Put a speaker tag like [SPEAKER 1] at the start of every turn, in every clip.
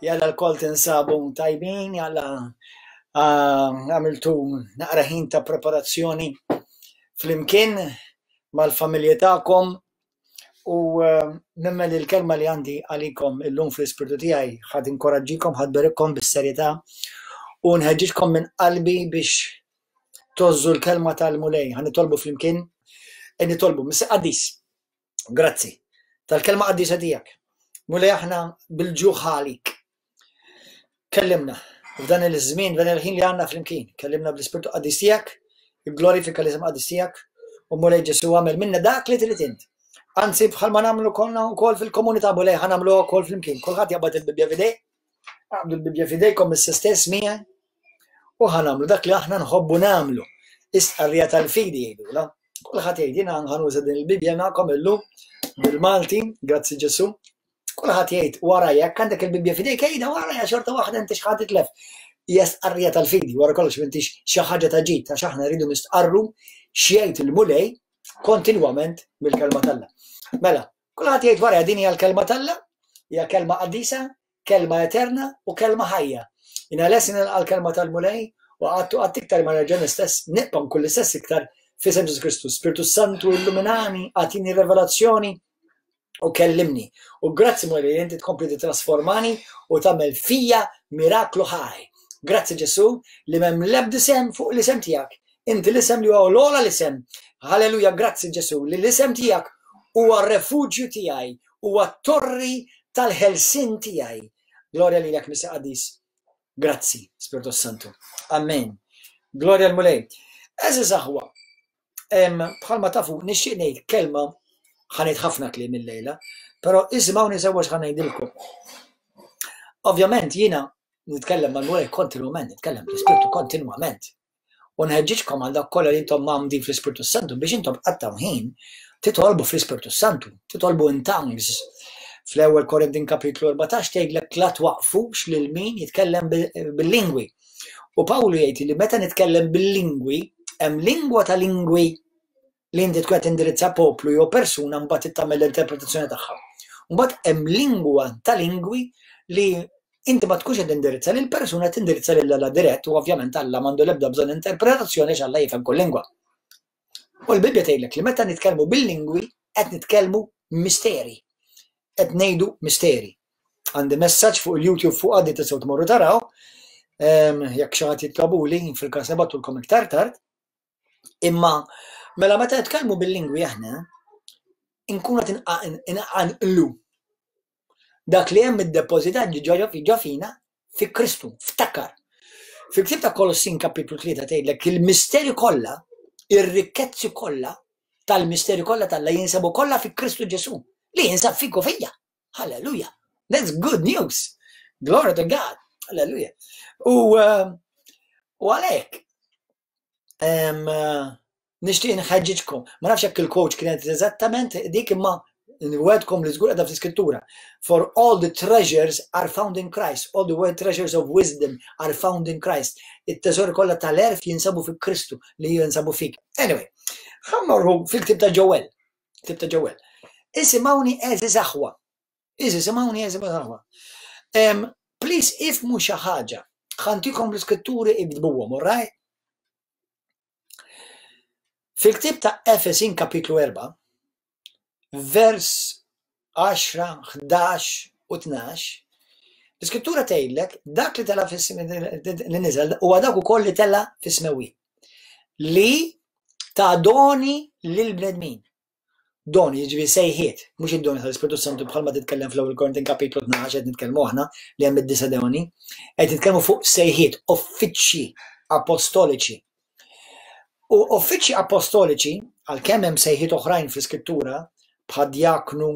[SPEAKER 1] Jalla lkoll tinsabu tajbin, jalla ah, għamiltu naqra ħin ta' preparazzjoni flimkien mal-familji tagħkom u eh, nemmen li l-kelma li għandi għalikom illum fl-ispirtu tiegħi ħad inkoraġġikom, ħad berikkom bis-serjetà u nħeġġiġkom minn qalbi biex tozzu l-kelma tal-Mulej. Ħa nitolbu flimkien, e nitolbu, Missi Qaddis, grazzi tal-kelma qaddisa tiegħek. Mulej aħna bil-ġuħ għalik. Kellimna f'dan il-żmien, f'dan il-ħin li għandna flimkien. Kellimna bl-Ispirtu Qaddis tiegħek, glorifika l-isem qaddis tiegħek, u Mulej Ġesu għamel minna dak li trid int. Anzi bħalma nagħmlu konna wkoll fil-komunità Mulej ħa nagħmlu wkoll flimkien. Kulħadd jaqbad il-Bibbja f'idej, aqbdu l-Bibbja f'idejkom issa stess miegħi u ħa nagħmlu dak li aħna nħobbu nagħmlu. Istqarrija tal-fidi jgħidula. Kulħadd jgħid jiena ħanuża din il-Bibbja magħkom illum bil-Malti, grazzi Ġesu. Kulħadd jgħid wara jekk għandek il-Bibbja f'idejk għidha wara xorta waħda inti x'ħadd titlef. Hija stqarrija tal-fidi, wara kollox m'intix xi ħaġa ta' ġid għax aħna rridu nistqarru x'jgħid il-Mulej kontinwament mill-kelma t'Alla. Mela, kulħadd jgħid wara din hija l-kelma t'Alla, hija kelma qaddisa, kelma eterna u kelma ħajja. Jiena lest nilqa' l-kelma tal-Mulej u qatt u qatt iktar ma nerġa' nistess nibqa' nkun l-istess iktar f'isem Ġesu Kristu. Spirtu Santu illuminani, agħtini revelazzjoni u kellimni. U grazzi Mulej li inti tkompli titrasformani u tagħmel fija miraklu ħaj. Grazzi Ġesu li m'hemm l-ebda isem fuq l-isem tiegħek. Inti l-isem li huwa l-ogħla l-isem. Halleluja, grazzi Ġesu li l-isem tiegħek huwa r-refuġju tiegħi, huwa t-torri tal-ħelsien tiegħi. Glorja lilek Missier Qaddis. Grazzi, Spirtu Santu. Amen. Glorja l-Mulej. Eżiż aħwa, bħalma tafu nixtieq ngħid kelma ħanejt ħafna kliem illejla, però isimgħuni sewwa x'ħa ngħidilkom. Ovvjament jiena nitkellem mal-Mulej kontinwament, nitkellem bl-Ispirtu kontinwament. U nħeġġiġkom għal dak kollha li intom mgħammdin fl-Ispirtu Santu biex intom tqattgħu ħin titolbu fl-Ispirtu Santu, titolbu in tongues. Fl-ewwel Korintin kapitlu 14 tgħidlek la twaqfux lil min jitkellem bil-lingwi. U Pawlu jgħid li meta nitkellem bil-lingwi, hemm lingwa ta' lingwi li inti tkun qed tindirizza poplu jew persuna mbagħad tagħmel l-interpretazzjoni tagħha. Mbagħad hemm lingwa ta' lingwi li inti ma tkunx qed tindirizza lil persuna tindirizza lil Alla dirett u ovvjament Alla m'għandu l-ebda bżonn interpretazzjoni għax Alla jifhem kull lingwa. U l-Bibbja tgħidlek li meta nitkellmu bil-lingwi qed nitkellmu misteri. Qed ngħidu misteri. Għandi messaġġ fuq il-YouTube fuq għaddi tistgħu tmorru taraw. Ehm, jekk xi ħadd jitlobuli, fil-każ nibattulkom iktar tard. Imma mela meta nitkellmu bil-lingwi aħna, inkunu qed inqanqlu dak li hemm iddepożitat ġo fina fi Kristu, ftakar. Fil-ktieb ta' Kolossin kapitlu 3 tgħidlek il-misteri kollha, ir-rikkezzi kollha tal-misteri kollha tal jinsabu kollha fi Kristu Ġesu li jinsab fik u fija. Halleluja. That's good news. Glory to God. Halleluja. U eh, u għalhekk Nixtieq nħeġġiġkom. Ma nafx jekk il-coach kienet eżattament dik imma nwedkom li żgur qiegħda fl-iskrittura. For all the treasures are found in Christ. All the world treasures of wisdom are found in Christ. It-teżori kollha tal-erf jinsabu fi Kristu li jinsabu fik. Anyway, ħammorru fil-ktib ta' Ġewel. Ktib ta' Ġewel. Isimgħuni għeżież aħwa. Isimgħuni għeżież aħwa. Please ifmu xi ħaġa. Ħantikom l-iskritturi iktbuhom, all right? Fil-ktieb ta' Efesin kapitlu 4, vers 10, 11 u 12, l-iskrittura tgħidlek dak li tela li niżel huwa dak ukoll li tela fis-smewwiet. Li ta' doni lill-bnedmin. Doni, jiġifieri sejħiet, mhux id-doni tal-Ispirtu Santu bħalma titkellem fl-ewwel Korintin kapitlu 12 qed nitkellmu aħna li hemm id-disa' doni, qed nitkellmu fuq sejħiet, uffiċċji apostoliċi. U uffiċċji apostoliċi, għalkemm hemm sejħiet oħrajn fl-Iskrittura, bħad-djaknu,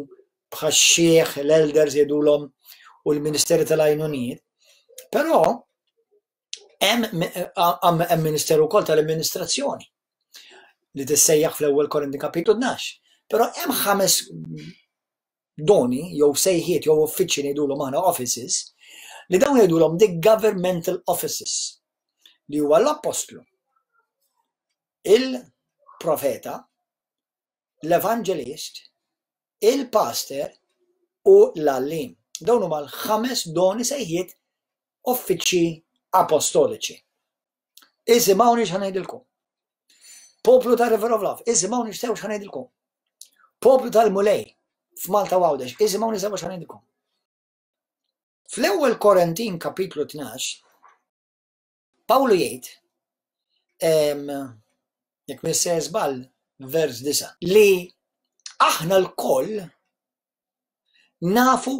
[SPEAKER 1] bħax-xiħ, l-elders jgħidulhom u l-ministeri tal-għajnuniet, però Hemm ministeru wkoll tal-amministrazzjoni li tissejjaħ fl-ewwel Korinti kapitlu 12. Però hemm ħames doni jew sejħiet jew uffiċċji ngħidulhom aħna offices li dawn jgħidulhom the governmental offices li huwa l-appostlu, il-profeta, l-evangelist, il-pastor u l-għalliem. Dawn huma l-ħames doni sejħiet uffiċċji apostoliċi. Isimgħuni x'ħa ngħidilkom. Poplu ta' River of Love, isimgħuni x'sew x'ħa ngħidilkom. Poplu tal-Mulej f'Malta u Għawdex, isimgħuni sew x'ħa ngħidilkom. Fl-ewwel Korintin kapitlu 12, Pawlu jgħid, jekk minn se żball vers 9, li aħna lkoll nafu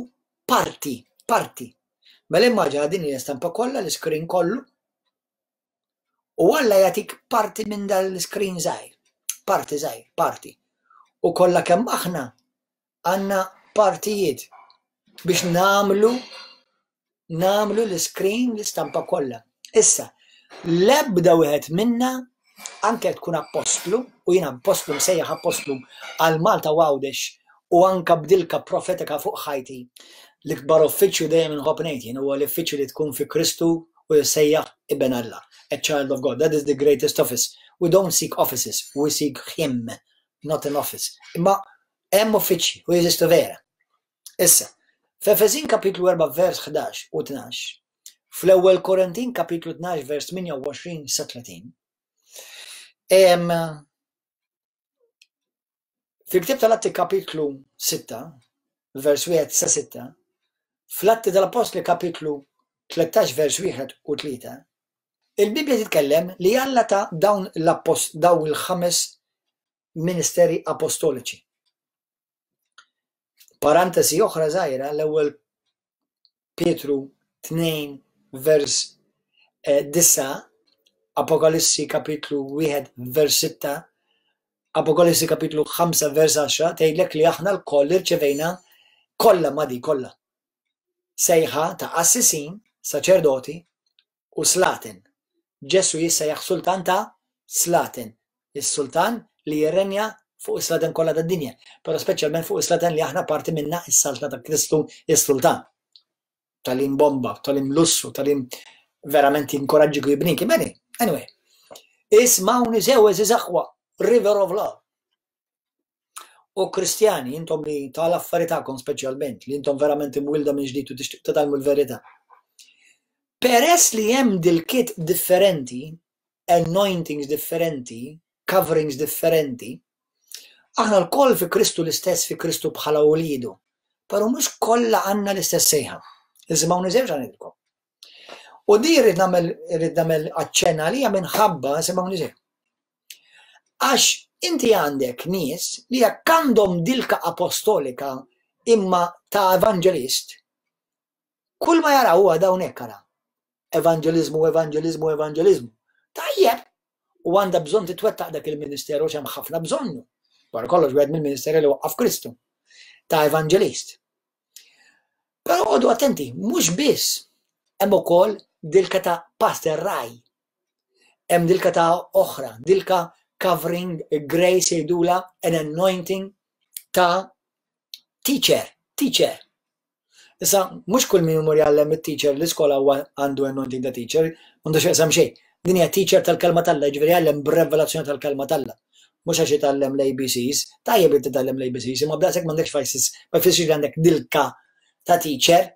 [SPEAKER 1] parti, parti. Mela immaġina din hija stampa kollha, l-iskrin kollu, u Alla jagħtik parti minn dal-iskrin żgħir, parti żgħir, parti. U kollha kemm aħna għandna partijiet biex nagħmlu nagħmlu l-iskrin l-istampa kollha. Issa, l-ebda wieħed minna anke tkun appostlu, u jiena appostlu msejjaħ appostlu għal Malta u Għawdex u anka b'dilka profetika fuq ħajti. L-ikbar uffiċċju dejjem inħobb ngħid jien huwa l-uffiċċju li tkun fi Kristu u jissejjaħ iben Alla, a child of God. That is the greatest office. We don't seek offices, we seek him, not an office. Imma hemm uffiċċji u jeżistu vera. Issa, f'Efesin kapitlu 4 vers 11 u 12, fl-ewwel Korintin kapitlu 12 vers 28 sa 30, fil-ktieb tal-Atti kapitlu 6, vers 1 sa 6, fl-Atti tal-Appostli kapitlu 13 vers 1 u 3, il-Bibbja titkellem li Alla ta dawn l-appost dawn il-ħames ministeri apostoliċi. Parantesi oħra żgħira l-ewwel Pietru 2 vers 9, eh, Apokalissi kapitlu 1 vers 6, Apokalissi kapitlu 5 vers 10 tgħidlek li aħna lkoll irċevejna kollha ma di kollha. Sejħa ta' qassisin, saċerdoti u slaten. Ġesù jissejjaħ sultan ta' slaten, is-sultan li jirrenja fuq is-slaten kollha tad-dinja, però speċjalment fuq is-slaten li aħna parti minnha is-saltna ta' Kristu is-sultan. Tagħlim bomba, tagħlim lussu, tagħlim verament jinkoraġġik u jibnik. Beni, anyway. Ismawni sew eżiż aħwa, River of Love. U Kristjani, intom li tal-affari tagħkom speċjalment, li intom verament imwilda minn ġdid u tixtieq titgħallmu l-verità. Peress li hemm dilkiet differenti, anointings differenti, coverings differenti, aħna lkoll fi Kristu l-istess fi Kristu bħala uliedu, però mhux kollha għandna l-istess sejħa. Isimgħuni sew x'għandilkom. U di rrid nagħmel rrid nagħmel aċċenn għalija minħabba isimgħuni sew. Għax inti għandek nies li jekk għandhom dilka apostolika imma ta' evanġelist, kull ma jaraw huwa dawn hekk ara. Evanġeliżmu, evanġeliżmu, evanġeliżmu. Tajjeb, u għandha bżonn titwettaq dak il-ministeru għax hemm ħafna bżonnu. Wara kollox wieħed mill-ministeri li waqqaf Kristu ta' evanġelist. Però għodu attenti, mhux biss hemm ukoll dilka ta' pastor raj Hemm dilka ta' oħra, dilka covering grace jgħidula an anointing ta' teacher, teacher. Issa, mhux kull min imur jgħallem it-teacher l-iskola huwa għandu anointing ta' teacher, m'għandu x'jaqsam xejn. Din hija teacher tal-kelma t'Alla, jiġifieri jgħallem b'revelazzjoni tal-kelma t'Alla. Mhux għax jitgħallem l-ABCs, tajjeb li titgħallem l-ABCs, imma b'daqshekk m'għandekx fajsis, ma jfissirx li għandek dilka ta' teacher.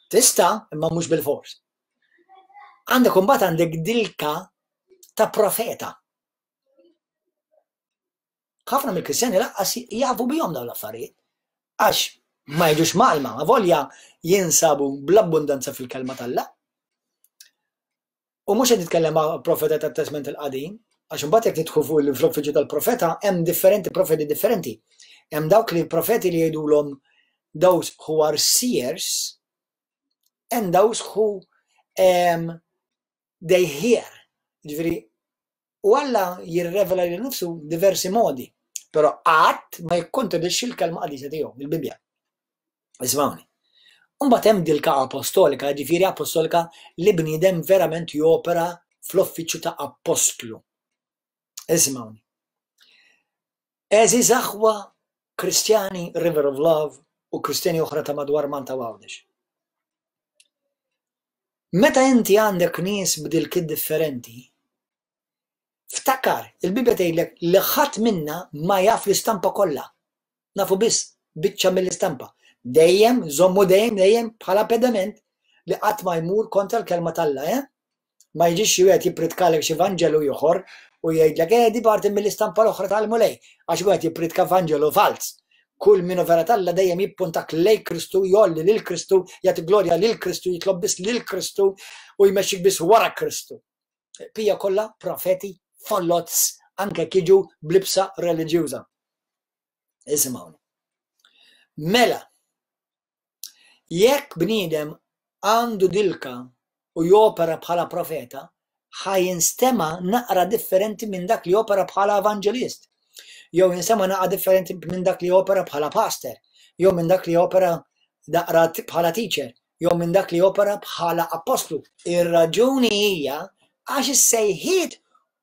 [SPEAKER 1] Tista', imma mhux bil-fors. Għandek imbagħad għandek dilka ta' profeta. Ħafna mill-Kristjani laqqas jafu bihom dawn l-affarijiet. Għax ma jiġux malma, volja jinsabu bl-abbundanza fil-kelma t'Alla. U mhux qed nitkellem ma' profeta tat-Testment il-Qadim, għax imbagħad jekk nidħlu fuq l-uffiċċju tal-profeta hemm differenti profeti differenti. Hemm dawk li profeti li jgħidulhom those who are seers, and those who um, they hear. Ġifieri, u Alla jirrevela lil nifsu diversi modi, però qatt ma jikkontradixxi l-kelma qadisa tiegħu, il-Bibbja. Ismawni. Mbagħad hemm dilka apostolika, ġifieri apostolika li bniedem verament jopera fl-uffiċċju ta' apostlu. Ismawni. Għeżież aħwa Kristjani River of Love u Kristjani oħra ta' madwar Malta u Għawdex. Meta inti għandek nies b'dilkiet differenti, ftakar, il-Bibbja tgħidlek li ħadd minna ma jaf l-istampa kollha. Nafu biss biċċa mill-istampa. Dejjem, żommu dejjem, dejjem bħala pedament li qatt ma jmur kontra l-kelma t'Alla, eh? Ma jiġix xi wieħed jippritkalek xi vanġelu ieħor u jgħidlek eh di parti mill-istampa l-oħra tal-Mulej, għax wieħed jippritka vanġelu falz. Kull min hu vera t'Alla dejjem jippuntak lejn Kristu, jgħolli lil Kristu, jagħti glorja lil Kristu, jitlob biss lil Kristu u jmexxik biss wara Kristu. Pija kollha profeti follots anke jekk jiġu b'libsa reliġjuża. Isimgħuni. Mela, Jekk bniedem għandu dilka u jopera bħala profeta, ħa jinstema' naqra differenti minn dak li jopera bħala evanġelist, jew jinstema' naqra differenti minn dak li jopera bħala pastor, jew minn dak li jopera naqra bħala teacher, jew minn dak li jopera bħala appostlu. Ir-raġuni hija għax is-sejħiet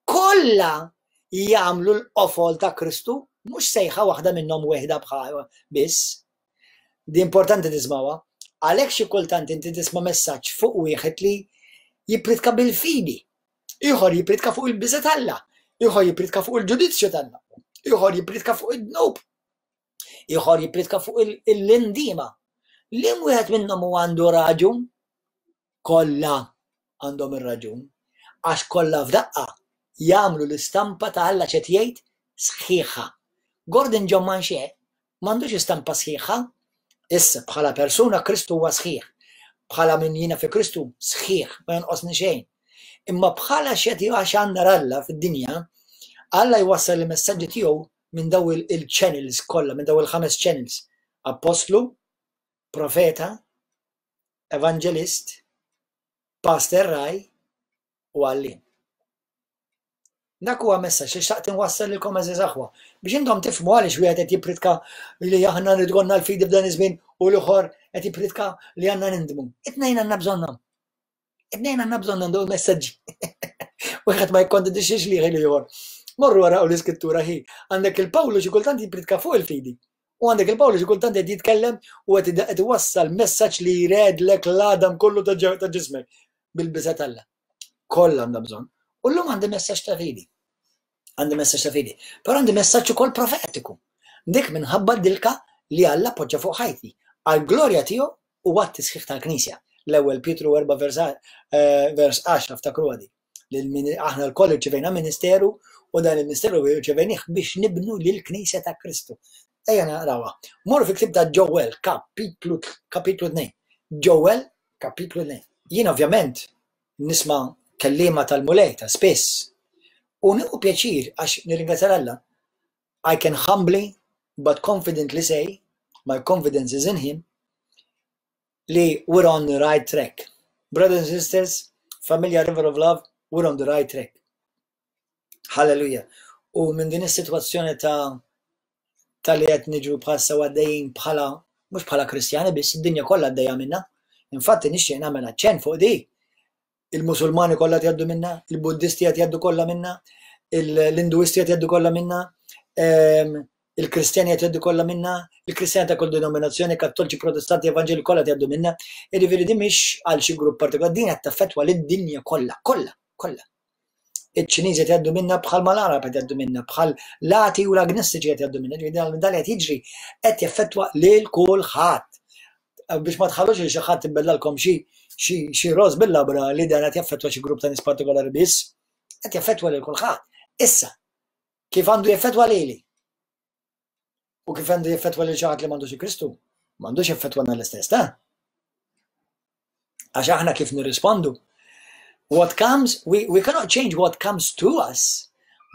[SPEAKER 1] kollha jagħmlu l-qofol ta' Kristu, mhux sejħa waħda minnhom weħda bħal biss. Di importanti tismawha. Għalhekk xi kultant inti tisma' messaġġ fuq wieħed li jippritka bil-fidi. Ieħor jippritka fuq il-biża' t'Alla. Ieħor jippritka fuq il-ġudizzju t'Alla. Ieħor jippritka fuq id-dnub. Ieħor jippritka fuq l-indiema. Liem wieħed minnhom hu għandu raġun? Kollha għandhom ir-raġun. Għax kollha f'daqqa jagħmlu l-istampa ta' Alla x'qed jgħid sħiħa. Gordon John Manche M'għandux istampa sħiħa. Issa, bħala persuna Kristu huwa sħiħ. Bħala min jiena fi Kristu, sħiħ, ma jonqosni xejn. Imma bħala x'qed għax Alla fid-dinja, Alla jwassal il-messaġġi tiegħu minn daw il-channels kollha, minn daw il-ħames channels. Appostlu, profeta, evanġelist, pastor raj u għalliem. Dak huwa messaġġ li xtaqt inwassal lilkom għeżież aħwa biex intom tifhmu għaliex wieħed qed jippritka li aħna rrid ikollna l-fidi f'dan iż-żmien u l-ieħor qed jippritka li għandna nindmu. It-tnejn għandna bżonnhom. It-tnejn għandna bżonnhom dawn il-messaġġi. Wieħed ma jikkontradixxix li l-ieħor. Morru wara l-iskrittura ħi. Għandek il-Pawlu xi kultant jippritka fuq il-fidi. U għandek il-Pawlu xi kultant qed jitkellem u qed iwassal messaġġ li jredlek l-għadam kollu ta' ġismek bil-biża' t'Alla. Kollha għandha bżonn. U llum għandi messaġġ ta' fidi. Għandi messaġġ ta' fidi. Però għandi messaġġ ukoll profetiku. Dik minħabba dilka li Alla poġġa fuq ħajti. Għall-glorja tiegħu u għat-tisħiħ tal-Knisja. L-ewwel Pietru 4 vers 10 eh, ftakru għadi. Aħna lkoll irċevejna ministeru u dan il-ministeru irċevejnih biex nibnu lill-Knisja ta' Kristu. Ejja naqrawha. Morru fil-ktieb ta' Joel, kapitlu kapitlu 2. Joel, kapitlu 2. Jien ovvjament nisma' kelliema tal-Mulej ta' spiss u nieħu pjaċir għax nirringrazzja Alla. I can humbly but confidently say, my confidence is in him, li we're on the right track. Brothers and sisters, familja River of Love, we're on the right track. Halleluja. U minn din is-sitwazzjoni ta' ta' li qed niġu bħalissa għaddejjin bħala mhux bħala Kristjani biss, id-dinja kollha għaddejja minna. Infatti nixtieq nagħmel aċċenn fuq di. Il-Musulmani kollha qed jgħaddu minna, il-Buddisti qed jgħaddu kollha minna, l-Induisti qed jgħaddu kollha minna, ehm, il-Kristjani qed jgħaddu kollha minna, il-Kristjani ta' kull denominazzjoni, Kattoliċi, Protestanti, Evanġeli kollha qed jgħaddu minna. Jiġifieri din mhix għal xi grupp partikolari, din qed taffettwa lid-dinja kollha, kollha, kollha. Iċ-Ċiniżi qed jgħaddu minna bħal ma l-Għarab qed jgħaddu minna, bħal l-ati u l-agnostiċi qed jgħaddu minna. Ġifieri dan li qed jiġri qed jaffettwa lil kulħadd. Biex ma tħallux li xi ħadd ibbellalkom xi xi roż bil-labra li dan qed jaffettwa xi grupp ta' nies partikolari biss, qed jaffettwa lil kulħadd. Issa, kif għandu jaffettwa lili? U kif għandu jaffettwa lil xi ħadd li m'għandux Kristu? M'għandux jaffettwana l-istess, ta' Għax aħna kif nirrispondu. What comes, we, we cannot change what comes to us,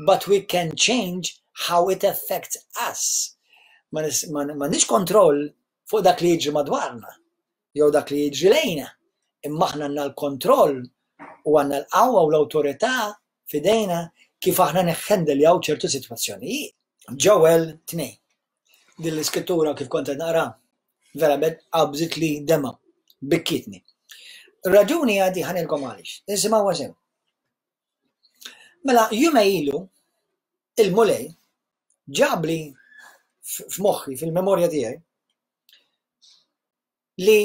[SPEAKER 1] but we can change how it affects us. Ma nix kontroll fuq dak li jiġri madwarna, jew dak li jiġri lejna. Imma aħna għandna l-kontroll u għandna l-qawwa u l-awtorità f'idejna kif aħna neħħendeljaw ċertu sitwazzjonijiet. Ġoel 2. Din l-iskrittura kif kont qed naqra, verament qabżitli dema, bikkietni. Raġuni għadi ħanilkom għaliex. Isimgħu sew. Mela jumej ilu il-Mulej ġabli f'moħħi fil-memorja tiegħi li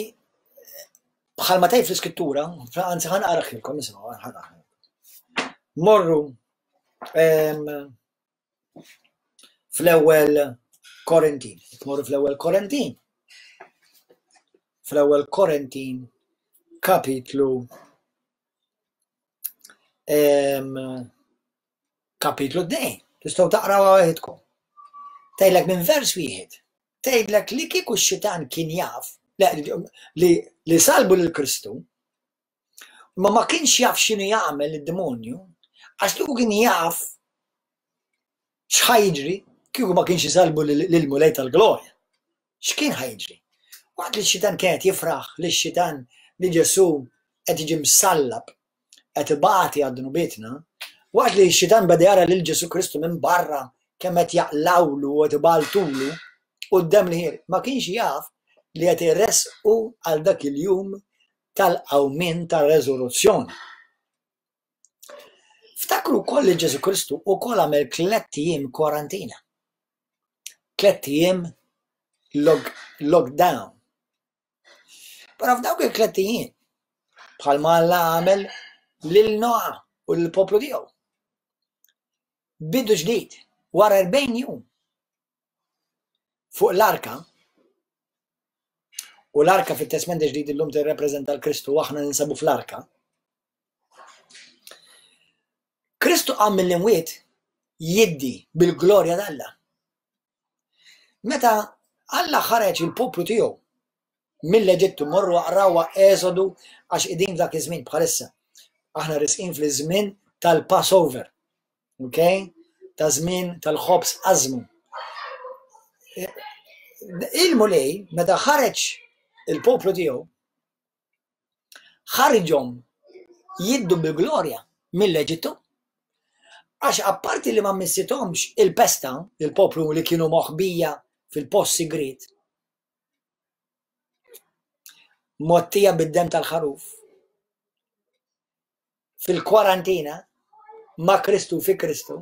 [SPEAKER 1] bħalma tgħid fl-iskrittura, anzi ħa naqraħilkom, isimgħu, ħa Morru fl-ewwel Korintin. Morru fl-ewwel Korintin. fl-ewwel Korintin kapitlu kapitlu 2. Tistgħu taqraw waħedkom. Tgħidlek minn vers wieħed. Tgħidlek li kieku x-xitan kien jaf li, li salbu lil Kristu, ma ma kienx jaf x'inhu jagħmel id-demonju, għax li kien jaf x'ħa jiġri kieku ma kienx isalbu lill-Mulej tal-glorja. X'kien ħa jiġri? Waqt li x-xitan kien qed jifraħ li x-xitan li Ġesù qed jiġi msallab qed ibati għad dnubietna, waqt li x-xitan beda jara lil Ġesù Kristu minn barra kemm qed jaqlawlu u qed ibaltulu u d-demm li ħir, ma kienx jaf li qed iressqu għal dak il-jum tal-qawmien tar-reżuruzzjoni. Ftakru wkoll li Ġesù Kristu wkoll għamel tlett ijiem kwarantina. Tlett ijiem lockdown. Però f'dawk il-tlett ijiem, bħalma Alla għamel lil Noa u lill-poplu tiegħu. Bidu ġdid, wara 40 jum fuq l-arka, u l-arka fit-Testment ġdid illum tirrepreżenta l-Kristu u aħna ninsabu fl-arka. Kristu qam mill-imwiet jiddi bil-glorja t'Alla. Meta Alla ħareġ il-poplu tiegħu mill-Eġittu morru aqrawha Eżodu għax qegħdin f'dak iż-żmien bħalissa. Aħna risqin fl-żmien tal-Passover. Ok? Ta' żmien tal-ħobż ażmu. Il-Mulej meta ħareġ il-poplu tiegħu ħarġhom jiddu bil-glorja mill-Eġittu għax apparti li ma missithomx il-pesta, il-poplu li kienu moħbija fil-post sigriet, mottija bid-dem tal-ħaruf, fil-kwarantina ma' Kristu fi Kristu,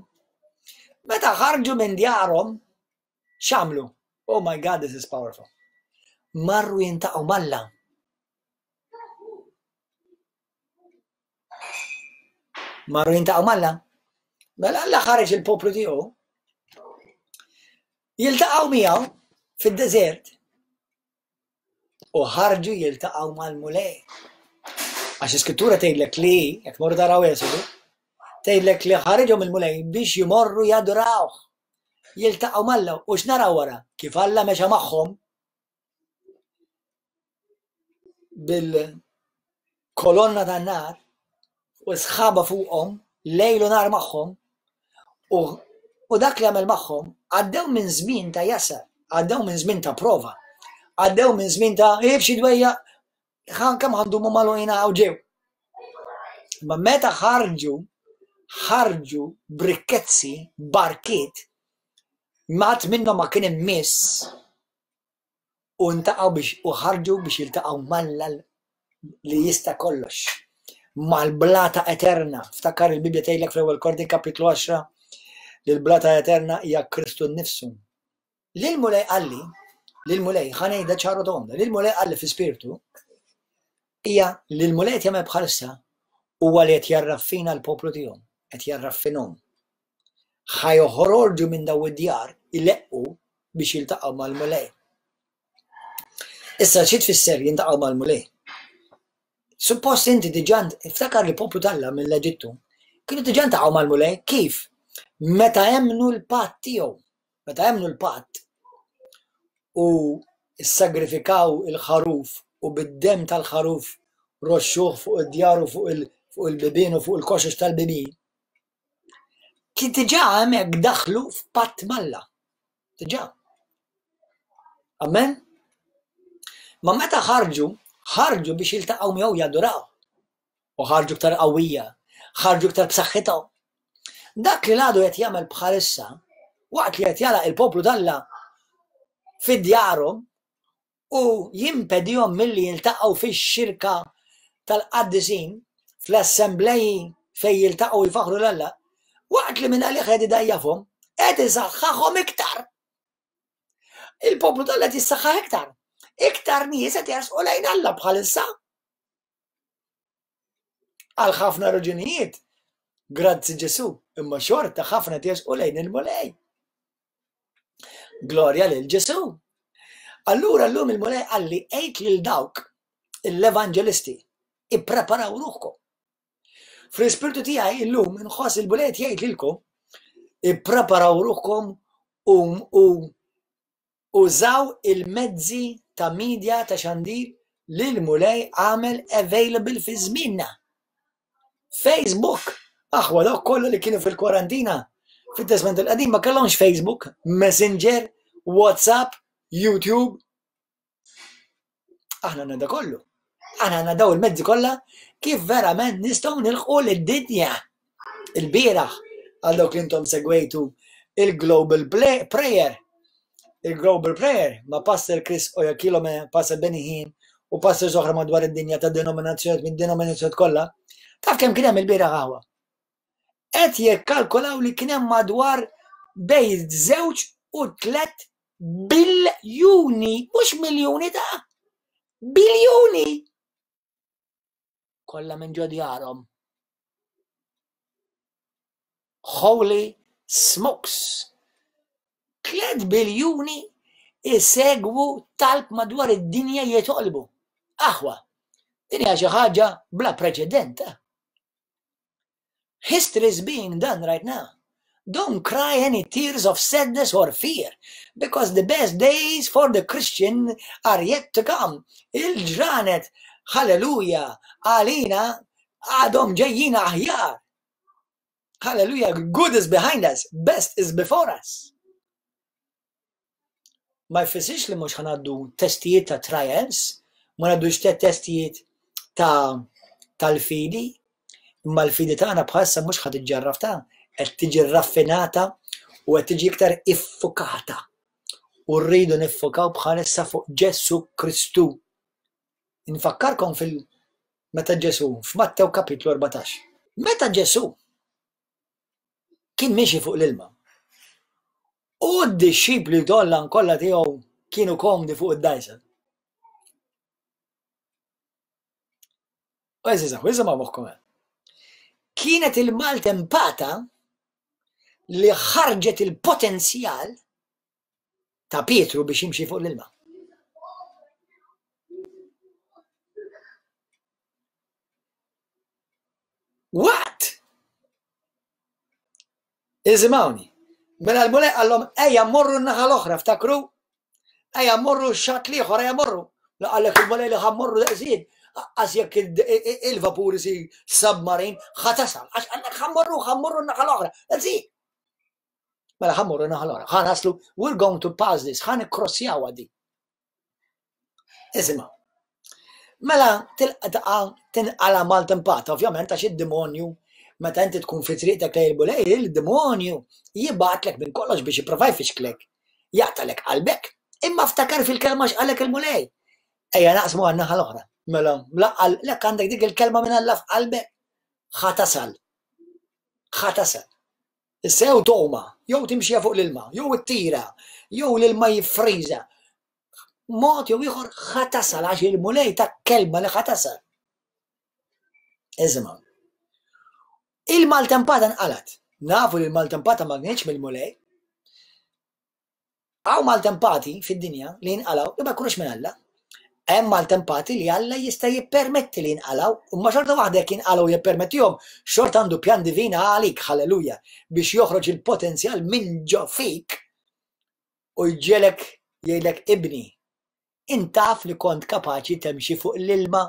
[SPEAKER 1] meta ħarġu minn djarhom, x'għamlu? Oh my God, this is powerful. Marru jintaqgħu m'Alla. Marru jintaqgħu m'Alla. Mela Alla ħareġ il-poplu tiegħu jiltaqgħu miegħu fid-deżert u ħarġu jiltaqgħu mal-Mulej. Għax l-Iskrittura tgħidlek li, jekk morru taraw Esodu, tgħidlek li ħariġhom il-Mulej biex jmorru jadurawh. Jiltaqgħu m'Alla u x'naraw wara? Kif Alla mexa magħhom bil-kolonna tan-nar u sħaba fuqhom lejl u nar magħhom u, u dak li għamel magħhom għaddew minn żmien ta' jasar, għaddew minn żmien ta' prova, għaddew minn żmien ta' ibxi dwejja kemm għandu magħluqin u ġew. Ma meta ħarġu, ħarġu brikkezzi, barkiet, mat minnhom ma kien immiss u ntaqgħu biex u ħarġu biex jiltaqgħu m'Alla li jista' kollox. Mal-blata eterna. Ftakar il-Bibbja tgħidlek fl-ewwel Korintin kapitlu 10 li l-blata eterna hija Kristu nnifsu. Lil Mulej qalli, lil Mulej ħa ngħidha ċaru tonda, lil Mulej qalli fi spirtu hija li l-Mulej qed jagħmel bħalissa huwa li qed jarraffina l-poplu tiegħu, qed jarraffinhom. Ħa joħorġu minn daw id-djar ileqqu biex jiltaqgħu mal-Mulej. Issa xi tfisser jintaqgħu mal-Mulej? Suppost inti diġà iftakar li poplu t'Alla mill-Eġittu kienu diġà ntaqgħu mal-Mulej kif? Meta emmnu l-patt tiegħu. Meta emmnu l-patt u ssagrifikaw il-ħaruf u bid-demm tal-ħaruf roxxuh fuq id-djar u fuq il-bibien u fuq il-koxox tal-bibien. Kien diġà hemmhekk daħlu f'patt m'Alla. Diġà. Amen? Ma meta ħarġu, ħarġu biex jiltaqgħu miegħu jaduraw. U ħarġu iktar qawwija, ħarġu iktar b'saħħithom. Dak li l-għadu qed jagħmel bħalissa, waqt li qed jagħlaq il-poplu t'Alla fi djarhom u jimpedihom milli jiltaqgħu fix-xirka tal-qaddisin, fl-assembleji fejn jiltaqgħu jfaħħru 'l Alla, waqt li minn għalih qed idgħajjafhom, qed isaħħaħhom iktar. Il-poplu t'Alla qed jissaħħaħ iktar. Iktar nies qed jersqu lejn Alla bħalissa. Għal ħafna raġunijiet, grazzi Ġesu, imma xorta ħafna qed jersqu lejn il-Mulej. Glorja lil Ġesu. Allura llum il-Mulej qalli għid lil dawk l-evanġelisti, ippreparaw ruħkom. Fl-ispirtu tiegħi illum inħoss il-Mulej qed jgħid lilkom ippreparaw ruħkom u u użaw il-mezzi ta' media ta' xandir li l-Mulej għamel available fi żmienna. Facebook, aħwa dawk kollha li kienu fil-kwarantina fit-Testament il-Qadim ma kellhomx Facebook, Messenger, WhatsApp, YouTube. Aħna għandna da kollu. Aħna għandna daw il-mezzi kollha kif verament nistgħu nilħqu lid-dinja. Il-bieraħ għal dawk li intom segwejtu il-Global Prayer. Il-Global Prayer ma' Pastor Chris Oyakhilome, Pastor Benny Hinn u pastors oħra madwar id-dinja ta' denominazzjonijiet minn denominazzjonijiet kollha. Taf kemm kien hemm il-bieraħ aħwa? Qed jikkalkulaw li kien hemm madwar bejn żewġ u tlet biljuni, mhux miljuni ta' biljuni kollha minn ġo djarhom. Holy smokes! 3 biljuni isegwu talb madwar id-dinja jitolbu. Aħwa, din hija xi ħaġa bla preċedent. Eh? History is being done right now. Don't cry any tears of sadness or fear, because the best days for the Christian are yet to come. Il-ġranet, hallelujah, għalina għadhom ġejjin aħjar. Hallelujah, good is behind us, best is before us. Ma jfissirx li mhux ħanaddu testijiet ta' trials, ma ngħaddux testijiet ta' tal-fidi, imma l-fidi tagħna bħalissa mhux ħad iġġarraf ta' qed tiġi raffinata u qed tiġi iktar iffukata. U rridu niffokaw bħalissa fuq Ġesù Kristu. Infakkarkom fil meta Ġesù f'Mattew kapitlu 14. Meta Ġesù kien miexi fuq l-ilma. U d-dixxipli kollha kollha tiegħu kienu komdi fuq id-dgħajsa. U eżiż, isimgħu moħħkom. Kienet il-maltempata li ħarġet il-potenzjal ta' Pietru biex jimxi fuq l-ilma. What? Isimgħuni. Mela l-Mulej qallhom ejja mmorru n-naħa l-oħra, ftakru? Ejja mmorru x-xatt l-ieħor, ejja mmorru. La qallek il-Mulej li ħa mmorru daqsijiet. Għax jekk il-vapur isir submarine, ħa tasal. Għax qallek ħa mmorru, ħa mmorru n-naħa l-oħra. Daqsijiet. Mela ħa mmorru n-naħa l-oħra. Ħa naslu, we're going to pass this, ħa nikkrossjaw għaddi. Isimgħu. Mela tilqa tinqala maltempata, ovvjament għax id-demonju meta inti tkun fi triqtek lejn il-Mulej, il-demonju jibgħatlek minn kollox biex jipprova jfixklek, jaqtalek qalbek. Imma ftakar fil-kelma x'qalek il-Mulej. Ejja naqsmu għan-naħa l-oħra. Mela, laqqal lek għandek dik il-kelma minn Alla f'qalbek, ħa tasal. Ħa tasal. Issa jew tgħuma, jew timxija fuq l-ilma, jew ittira, jew l-ilma jiffriża. Mod jew ieħor ħa tasal għax il-Mulej ta' kelma li ħa tasal. Iżma. Il-maltempata nqalat. Nafu li l-maltempata ma kienx mill-Mulej. Hawn maltempati fid-dinja li jinqalgħu li ma jkunux minn Alla. Hemm maltempati li Alla jista' jippermetti li jinqalgħu, imma xorta waħda jekk jinqalgħu jippermettihom, xorta għandu pjan divin għalik, halleluja, biex joħroġ il-potenzjal minn ġo fik u jġiegħlek jgħidlek ibni, int taf li kont kapaċi temxi fuq l-ilma.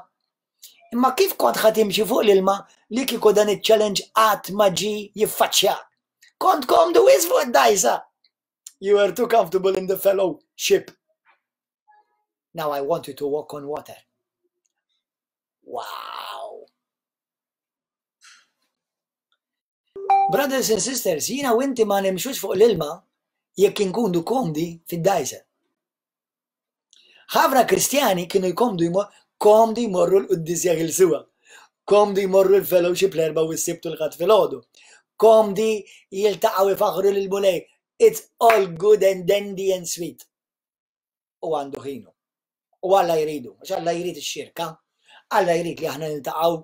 [SPEAKER 1] Imma kif kont ħa timxi fuq l-ilma li kieku dan iċ-challenge qatt ma ġie jiffaċċjak? Kont komdu wisq fuq id-dgħajsa. You were too comfortable in the fellowship. Now I want you to walk on water. Wow! Brothers and sisters, jina u inti ma nimxux fuq l-ilma jekk inkunu komdi fid-dajsa. Ħafna Kristjani kienu jkomdu komdi jmorru l-quddies jaħilsuha, komdi jmorru l-fellowship l-Erbgħa u s-Sibt u l-Ħadd filgħodu, komdi jiltaqgħu jfaħħru lill-Mulej. It's all good and dandy and sweet. U għandu ħinu. U Alla jridu, għax Alla jrid ix-xirka. Alla jrid li aħna niltaqgħu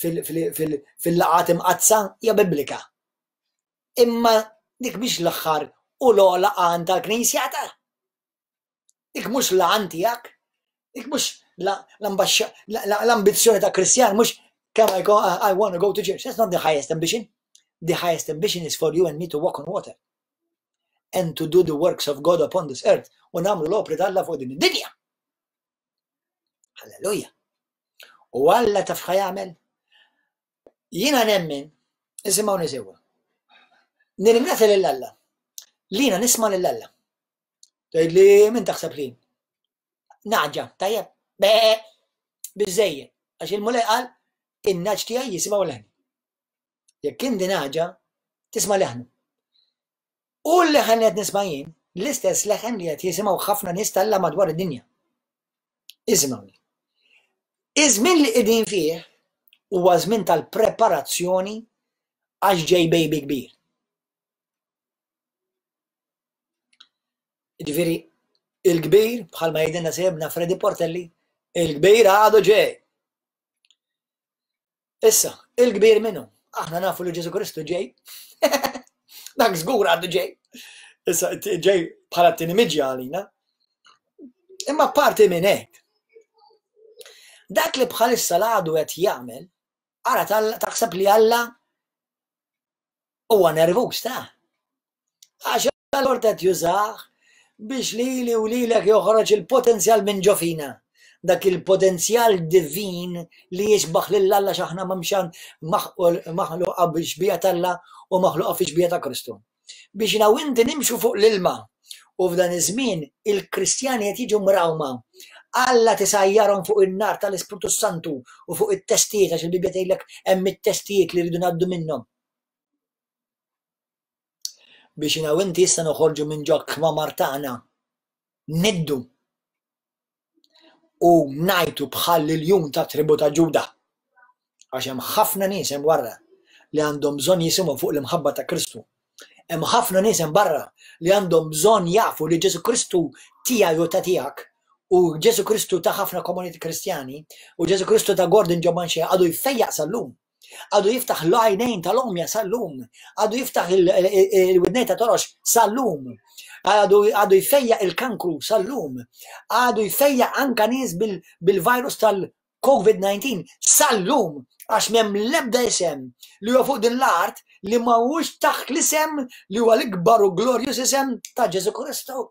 [SPEAKER 1] fil-laqgħat imqaddsa hija biblika. Imma dik mhix l-aħħar u l-ogħla għan tal-Knisja ta'. Dik mhux l-għan tiegħek, dik mhux l-ambizzjoni ta' Kristjan, mhux kemm I, go, I want to go to church. That's not the highest ambition. The highest ambition is for you and me to walk on water and to do the works of God upon this earth u nagħmlu l-opri t'Alla fuq din id-dinja. Halleluja. U Alla taf jagħmel? Jiena nemmen, isimgħuni sewwa. Nirringrazzja lil Alla. Lina nisma' lil Alla. Tgħid li min taħseb li? Naġa, tajjeb, be, biżejjed. Għax il-Mulej qal, in-naġ tiegħi jisimgħu leħni. Jekk inti naġa, tisma' leħnu. U l-leħen li qed nisma' jien, l-istess leħen li qed jisimgħu ħafna nies talla madwar id-dinja. Isimgħuni. Iż-żmien li qegħdin fih huwa żmien tal-preparazzjoni għax ġej baby kbir. Ġifieri, il-kbir, bħalma jgħidilna sejbna Freddy Portelli, il-kbir għadu ġej. Issa, il-kbir minnu? Aħna nafu li Ġesu Kristu ġej. Dak żgur għadu ġej. Issa, ġej bħala t-tieni miġja għalina. Imma parti minn hekk. Dak li bħalissa l-għadu qed jagħmel, ara taħseb li Alla Huwa nervuż ta'. Għax allura qed jużah biex lili u lilek joħroġ il-potenzjal minn ġo fina. Dak il-potenzjal divin li jixbaħ lil Alla x'aħna m'hemmx maħluqa bi xbieha t'Alla u maħluqa fi xbieha ta' Kristu. Biex jiena u inti nimxu fuq l-ilma. U f'dan iż-żmien il-Kristjani qed jiġu mrawma. Alla tisajjarhom fuq in-nar tal-Ispirtu Santu u fuq it-testijiet għax il-Bibbja tgħidlek hemm it-testijiet li rridu ngħaddu minnhom. Biex jiena u inti issa noħorġu minn ġo kmamar tagħna niddu u ngħajtu bħal l-iljun ta' tribu ta' Ġuda. Għax hemm ħafna nies hemm barra li għandhom bżonn jisimgħu fuq l-imħabba ta' Kristu. Hemm ħafna nies hemm barra li għandhom bżonn jafu li Ġesu Kristu tiegħi u ta' tiegħek u Ġesu Kristu ta' ħafna komuniti Kristjani u Ġesu Kristu ta' Gordon Ġomanxie għadu jfejjaq sal-lum. Għadu jiftaħ l-għajnejn tal-omja sal-lum. Għadu jiftaħ il-widnejn ta' torox sal-lum. Għadu jfejjaq il-kankru sal-lum. Għadu jfejjaq anka nies bil-virus tal-COVID-19 sal-lum. Għax m'hemm l-ebda isem li huwa fuq din l-art li ma huwiex taħt l-isem li huwa l-ikbar u glorjus isem ta' Ġesu Kristu.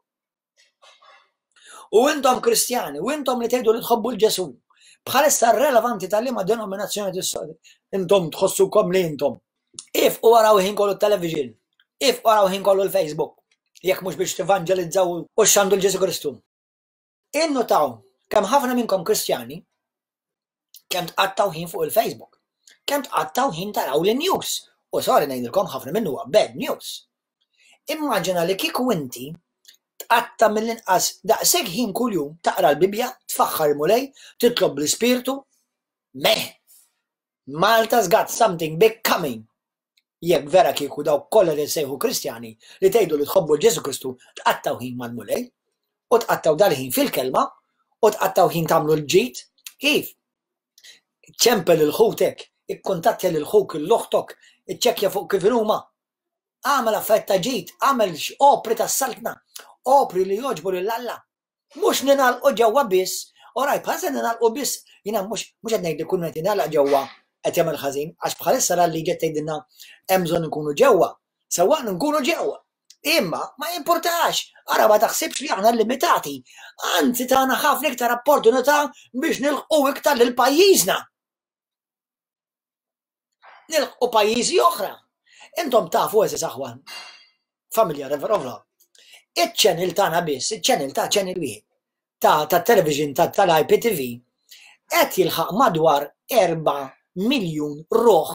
[SPEAKER 1] U intom Kristjani, u intom li tgħidu li tħobbu l-Ġesu, bħalissa relevanti tal-liema denominazzjoni intom tħossukom li intom. If u waraw ħin kollu television, if waraw ħin kollu l-Facebook, jekk mhux biex tivanġelizzaw u xandu l-Ġesu Kristu. Innutaw kemm ħafna minnkom Kristjani kemm tqattaw ħin fuq il-Facebook, kemm tqattaw ħin taraw l-news. U sorry ngħidilkom ħafna minnu huwa bad news. Immaġina li kieku inti tqatta' mill-inqas daqshekk ħin kuljum taqra l-Bibbja, tfaħħar il-Mulej, titlob bl-Ispirtu. Meh! Malta's got something big coming! Jekk vera kieku dawk kollha li ssejħu Kristjani li tgħidu li tħobbu l Ġesù Kristu tqattgħu ħin mal-Mulej u tqattgħu dal-ħin fil-kelma u tqattgħu ħin tagħmlu l-ġid, kif? Ċempel lil ħutek, ikkuntattja lil ħuk, lil oħtok, iċċekkja fuq kif inhuma. Agħmel affarijiet ta' ġid, agħmel opri tas-saltna, opri li jogħġbu lil Alla. Mhux ningħalqu ġewwa biss, orajt bħalissa ningħalqu biss, jiena mhux mhux qed ngħid li kull min qed jingħalaq ġewwa qed jagħmel ħażin, għax bħalissa la l-liġi qed tgħidilna hemm bżonn inkunu ġewwa, sewwa nkunu ġewwa. Imma ma jimpurtax, ara ma taħsibx li aħna limitati, anzi tagħna ħafna iktar opportunità biex nilħqu iktar lil pajjiżna. Nilħqu pajjiżi oħra. Intom tafu eżis aħwa, familja Reverovla. Iċ-channel tagħna biss, iċ-channel ta' channel wieħed ta' ta' television ta' tal-IPTV qed jilħaq madwar 4 miljun ruħ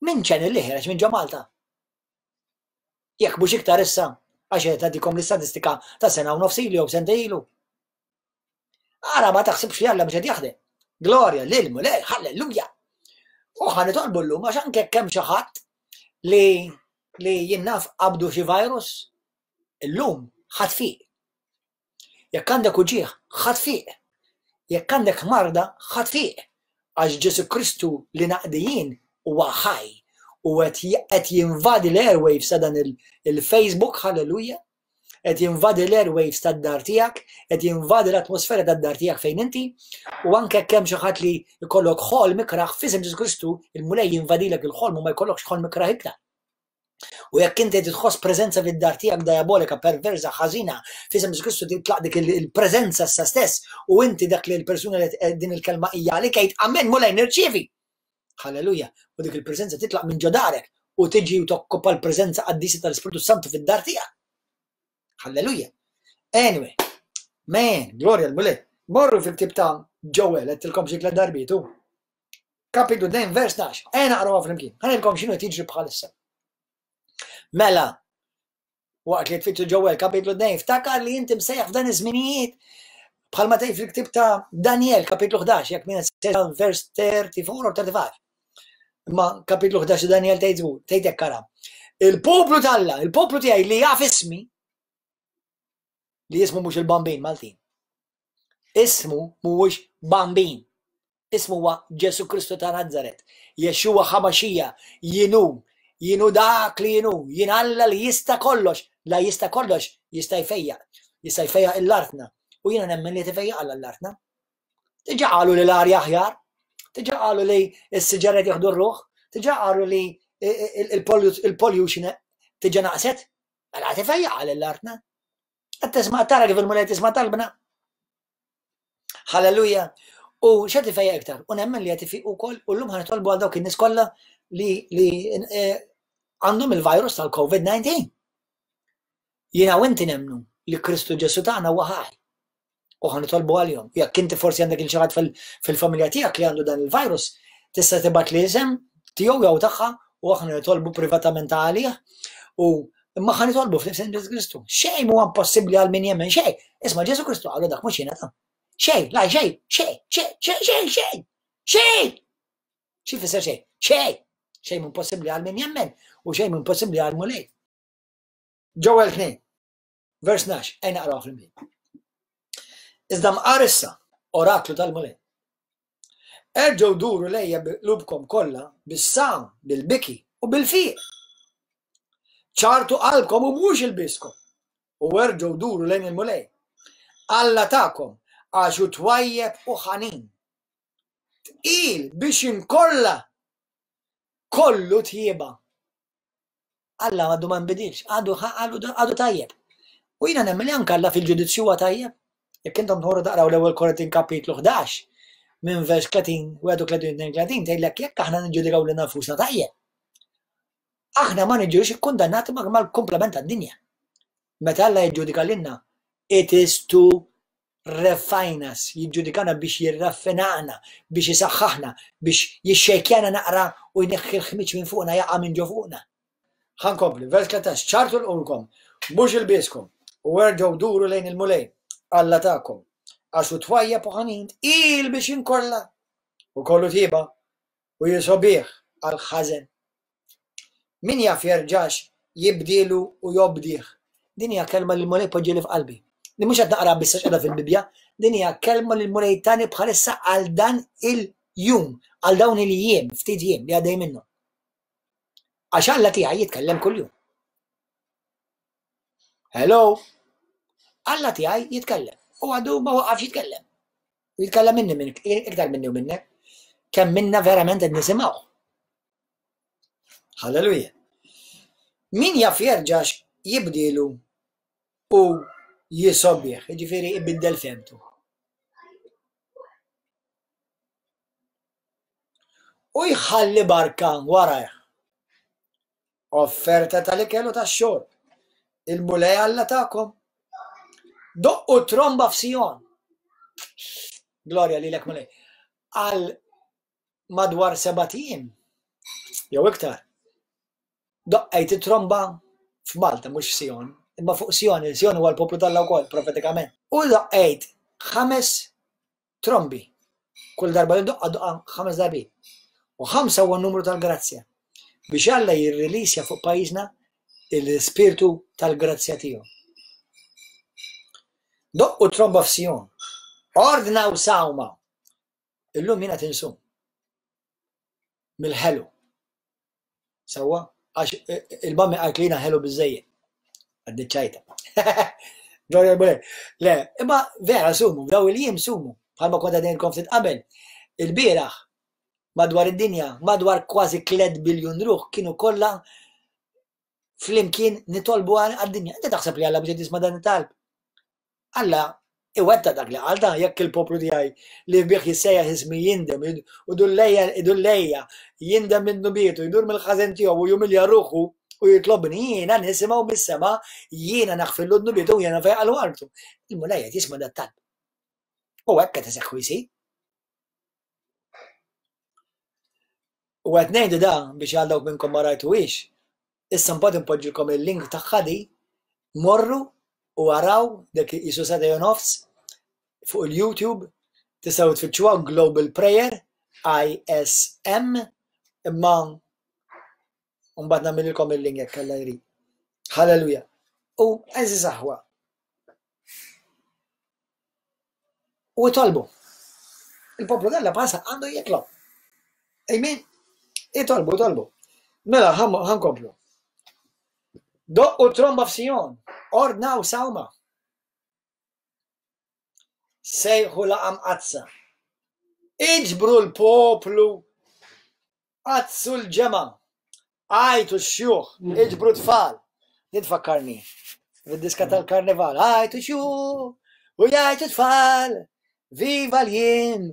[SPEAKER 1] minn channel li ħereġ minn ġo Malta. Jekk mhux iktar issa, għax qed nagħtikom l-istatistika ta' sena u nofs ilu jew sentejn ilu. Ara ma taħsibx li Alla mhux qed jaħdem. Glorja lil Mulej, halleluja. U ħa nitolbu llum għax anke kemm xi ħadd li li jien naf qabdu xi virus, illum ħadd fiq. Jekk għandek uġigħ, ħadd fiq. Jekk għandek marda, ħadd fiq. Għax Ġesu Kristu li naqdi jien huwa ħaj u qed jinvadi l-airwaves ta' dan il-Facebook, halleluja. Qed jinvadi l-airwaves tad-dar tiegħek, qed jinvadi l-atmosfera tad-dar tiegħek fejn inti, u anke jekk hemm xi ħadd li jkollok ħolm ikrah f'isem Ġesù Kristu, il-Mulej jinvadilek il-ħolm u ma jkollokx ħolm ikrah iktar. U jekk inti qed tħoss preżenza fid-dar tiegħek diabolika, perversa, ħażina, f'isem Ġesù Kristu titlaq dik il-preżenza issa stess u inti dak li l-persuna li eh, din il-kelma hija għalik għid amen Mulej nirċievi. Halleluja. U dik il-preżenza titlaq minn ġo darek u tiġi u tokkopa l-preżenza qaddisa tal-Ispirtu Santu fid-dar tiegħek. Halleluja. Anyway, man, glorja l-Mulej. Morru fil-ktib ta' Joel, għedtilkom xi tliet darbiet, Kapitlu 2 vers 12. Ejja naqrawha flimkien. Ħa ngħidilkom x'inhu qed jiġri bħalissa. Mela, waqt li tfittxu Ġewel kapitlu 2, ftakar li inti msejjaħ f'dan iż-żminijiet bħalma tgħid fil-ktieb ta' Daniel kapitlu 11, jekk min qed vers 34 u 35. Imma kapitlu 11 ta' Daniel tgħid żgur, tgħid hekk ara. Il-poplu t'Alla, il-poplu tiegħi li jaf ismi, li jismu mhux il-bambin Maltin. Ismu mhuwiex bambin. Ismu huwa Ġesù Kristu ta' Nazaret, Yeshua HaMashiach, Jien hu, Jien hu dak li jien hu, Jien Alla li jista' kollox, la jista' kollox, jista' jfejjaq, jista' jfejjaq l-artna. U jiena nemmen li qed ifejjaq Alla l-artna. Diġà qalu li l-arja aħjar, diġà qalu li s-siġar qed jieħdu r-ruħ, diġà qalu li il-pollution diġà naqset. Mela qed ifejjaq Alla l-artna. Qed tisma' tara kif il-Mulej tisma' talbna. Halleluja. U x'qed ifejjaq iktar? U nemmen li qed ifiq ukoll u llum ħa nitolbu għal dawk in-nies kollha li li eh, għandhom il-virus tal-COVID-19. Jiena u inti nemmnu li Kristu Ġesu tagħna huwa ħaj. U ħa nitolbu għalihom. Jekk inti forsi għandek il xi ħadd fil-familja tiegħek li għandu dan il-virus, tista' tibgħat li isem tiegħu jew tagħha u aħna nitolbu privatament għalih u imma ħa nitolbu fl-isem Ġesu Kristu. Xejn huwa impossibbli għal min jemmen xejn. Isma' Ġesu Kristu qalu dak mhux jiena ta'. Xejn, la xejn, xejn, xejn, xejn, xejn, xejn. Xejn! Xi jfisser xejn? Xejn! Xejn impossibbli għal min jemmen u xejn impossibbli għal Mulej. Ġewel 2, vers 12, ejn naqraw flimkien. Iżda mqar issa, oraklu tal-Mulej. Erġgħu duru lejja bi qlubkom kollha bis-sawm, bil-biki u bil-fiq. Ċartu qalbkom u mhux ilbieskom, u erġgħu duru lejn il-Mulej, Alla tagħkom, għax hu twajjeb u ħanin. Tqil biex inkolla kollu tjieba. Alla għadu ma nbidilx, għadu għadu tajjeb. U jiena nemmen li anke Alla fil-ġudizzju huwa tajjeb. Jekk intom tmorru taqraw l-ewwel Korintin kapitlu 11 minn vers 30, 31, 32 tgħidlek jekk aħna niġġudikaw lilna nfusna tajjeb. Aħna ma niġux ikkundannati mal-kumplament tad-dinja. Meta Alla jiġġudika lilna, it is to refine us, jiġġudikana biex jirraffinana, biex isaħħaħna, biex jixxejkjana naqra u jneħħi l-ħmiġ minn fuqna jaqa' minn ġo fuqna. Ħa nkompli, vers 13, ċartu lqulkom, mhux ilbieskom, u erġgħu duru lejn il-Mulej, Alla tagħkom, għax hu twajjeb u ħanin, tqil biex jinkorla, u kollu tjieba, u jisobih għall-ħażen. Min jaf jerġax jibdielu u jobdih. Din hija kelma li l-Mulej poġġieli f'qalbi. Li mhux qed naqra biss għax qiegħda fil-Bibbja, din hija kelma li l-Mulej tani bħalissa għal dan il-jum, għal dawn il-jiem, ftit jiem li għaddej minnhom. Għax Alla tiegħi jitkellem kuljum. Hello? Alla tiegħi jitkellem. U għadu ma waqafx jitkellem. U jitkellem minni minn iktar minni u minnek. Kemm minna verament qed nisimgħu. Halleluja. Min jaf jerġax jibdilu u jisobih, jiġifieri ibiddel femtu. U jħalli barka warajh. Offerta tal-ikel u tax-xorb. Il-Mulej Alla tagħkom. Doqqu tromba f'Sijon. Glorja lilek Mulej. Għal madwar sebat ijiem jew iktar. Doqqejt it-tromba f'Malta mhux f'Sijon, imma fuq Sijon, il-Sijon huwa l-poplu t'Alla wkoll profetikament. U doqqejt ħames trombi. Kull darba li doqqa doqqa ħames darbiet. U ħamsa huwa n-numru tal-grazzja. Biex Alla jirrilisja fuq pajjiżna l-ispirtu tal-grazzja tiegħu. Doqqu tromba f'Sijon. Ordnaw sawma. Illum jiena tinsum. Mill-ħelu. Sewwa? Għax il-mami qalt li jiena ħelu biżejjed. Għaddi ċajta. Glorja l-Mulej. Le, imma vera sumu, daw il-jiem sumu, bħalma kont għadin ftit qabel. Il-bieraħ madwar id-dinja, madwar kważi 3 biljun ruħ kienu kollha flimkien nitolbu għad-dinja. Inti taħseb li Alla biex jisma' dan it-talb? Alla iwettaq dak li qal ta' jekk il-poplu tiegħi li bih jissejjaħ ismi jindem u dullejja idullejja jindem minn dnubietu jdur mill-ħażen tiegħu u jumilja ruħu u jitlobni jiena nisimgħu mis-sema jiena naħfirlu dnubietu u jiena nfejqalu artu. Il-Mulej qed jisma' dat-talb. U hekk qed iseħħu jsir. U qed ngħidu da biex għal dawk minnkom ma rajtuhiex, issa mbagħad inpoġġilkom il-link tagħha di, morru u araw dak jisu sagħtejn u nofs fuq il-YouTube, tistgħu tfittxuha Global Prayer ISM imma mbagħad nagħmililkom il-link jekk Alla jrid. Halleluja. U għeżież aħwa, U itolbu. Il-poplu t'Alla bħalsa għandu jitlob. Amen. Itolbu, itolbu. Mela, ħankomplu. Doqqu tromba f'Sijon, ordnaw sawma. Sejħu laqam qazza. Iġbru l-poplu Qaddsu l-ġemgħa, għajtu x-xjuħ, iġbru t-tfal. Din tfakkarni fid-diska tal-karnival. Għajtu xjuħ u jgħajtu tfal, viva l-jiem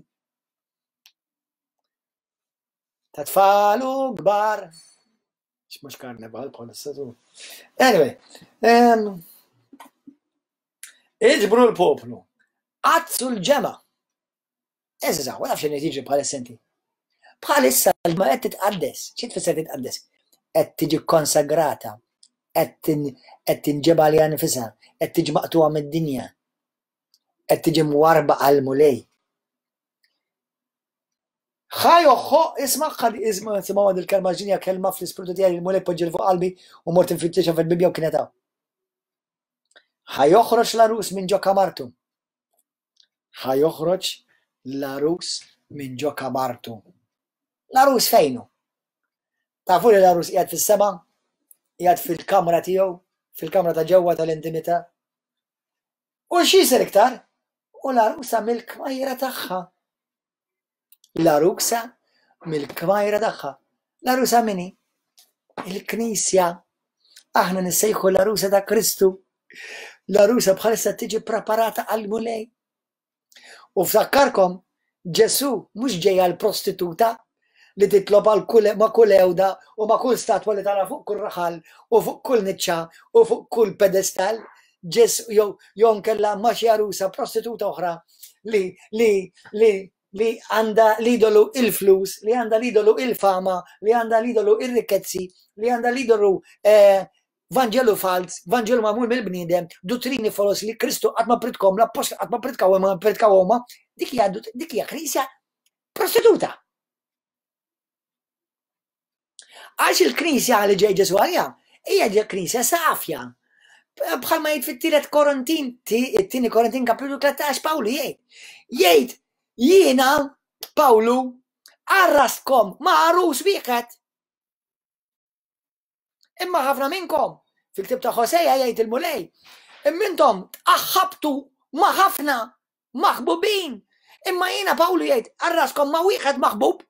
[SPEAKER 1] ta' tfal u kbar. Mhux karnival bħalissa tu. Anyway, iġbru l-poplu, qaddsu l-ġemgħa. Eżatt, ma nafx x'inhi tiġri bħalissa inti. Bħalissa l-ma qed titqaddes. Xi tfisser titqaddes? Qed tiġi konsagrata, qed tinġeba għaliha nfisha, qed tiġi maqtugħa mid-dinja, qed tiġi mwarba għall-Mulej. Ħa joħħo, isma' isma' simgħu il-kelma ġinja kelma fl-ispirtu tiegħi il-Mulej poġġi fuq qalbi u mort infittixha fil-Bibbja u kienet hawn. Ħa joħroġ l-għarus minn ġo kamartu. Ħa joħroġ l-għarus minn ġo kamartu. L-għarus fejn hu? Tafu li l-għarus qiegħed fis-sema? Qiegħed fil-kamra tiegħu, fil-kamra ta' ġewwa tal-intimità. U x'jisir iktar? U l-għarusa mill-kmajra tagħha. L-għarusa mill-kmajra tagħha. L-għarusa min hi? Il-Knisja. Aħna nissejħu l-għarusa ta' Kristu. L-għarusa bħalissa tiġi preparata għall-Mulej. U ftakkarkom, Ġesu mhux ġej għal prostituta li titlob għal kull ma' kull ewda u ma' kull statwa li tara fuq kull raħal u fuq kull niċċa u fuq kull pedestal. Ġesu jew jew nkella ma' xi għarusa prostituta oħra li li li li għandha l-idolu il-flus, li għandha l-idolu il-fama, li għandha l-idolu il-rikkezzi, li għandha l-idolu eh, Vanġelu falz, Vanġelu magħmul mill-bniedem, duttrini folos li Kristu qatt ma pritkom, l-appostli qatt ma pritkaw ma pritkaw huma, dik hija dik hija knisja prostituta. Għax il-knisja li ġej Ġesu għalija, hija knisja safja. Bħalma jgħid fit-tielet Korintin, it-tieni Korintin kapitlu 13 Pawlu jgħid. Jgħid jiena Pawlu għarrastkom ma' għarus wieħed. Imma ħafna minnkom, fil-ktib ta' Ħoseja jgħid il-Mulej, imma intom tqaħħabtu ma' ħafna maħbubin. Imma jiena Pawlu jgħid, għarraskom ma' wieħed maħbub,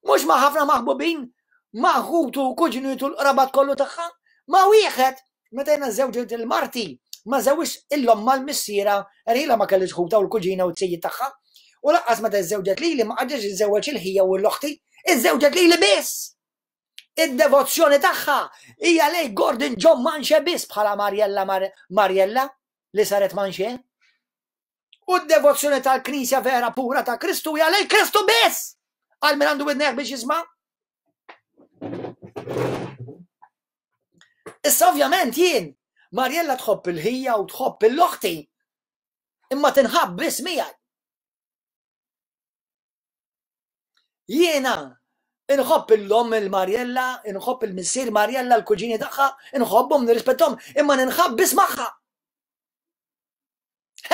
[SPEAKER 1] mhux ma' ħafna maħbubin, ma' ħutu kuġnitu l-qrabat kollu tagħha, ma' wieħed meta jiena żewġet il-marti, ma żewġ il-lomma l-missiera, erħila ma kellix ħuta u l-kuġina u t-sejjid tagħha. U laqqas meta żewġet lili ma qagħdx iżewweġ il-ħija u l-oħti, iżżewġet lili biss. Id-devozzjoni tagħha hija lej Gordon John Manche biss bħala Mariella Mariella li saret Manche. U d-devozzjoni tal-Knisja vera pura ta' Kristu hija lej Kristu biss! Għal min għandu widnejh biex jisma'. Issa ovvjament jien Mariella tħobb il-ħija u tħobb il-loħti imma tinħabb biss miegħi. Jiena inħobb il-lom il-Marjella, inħobb il-missier Marjella, l-kuġini tagħha, inħobbhom, nirrispettom, imma ninħabb biss magħha.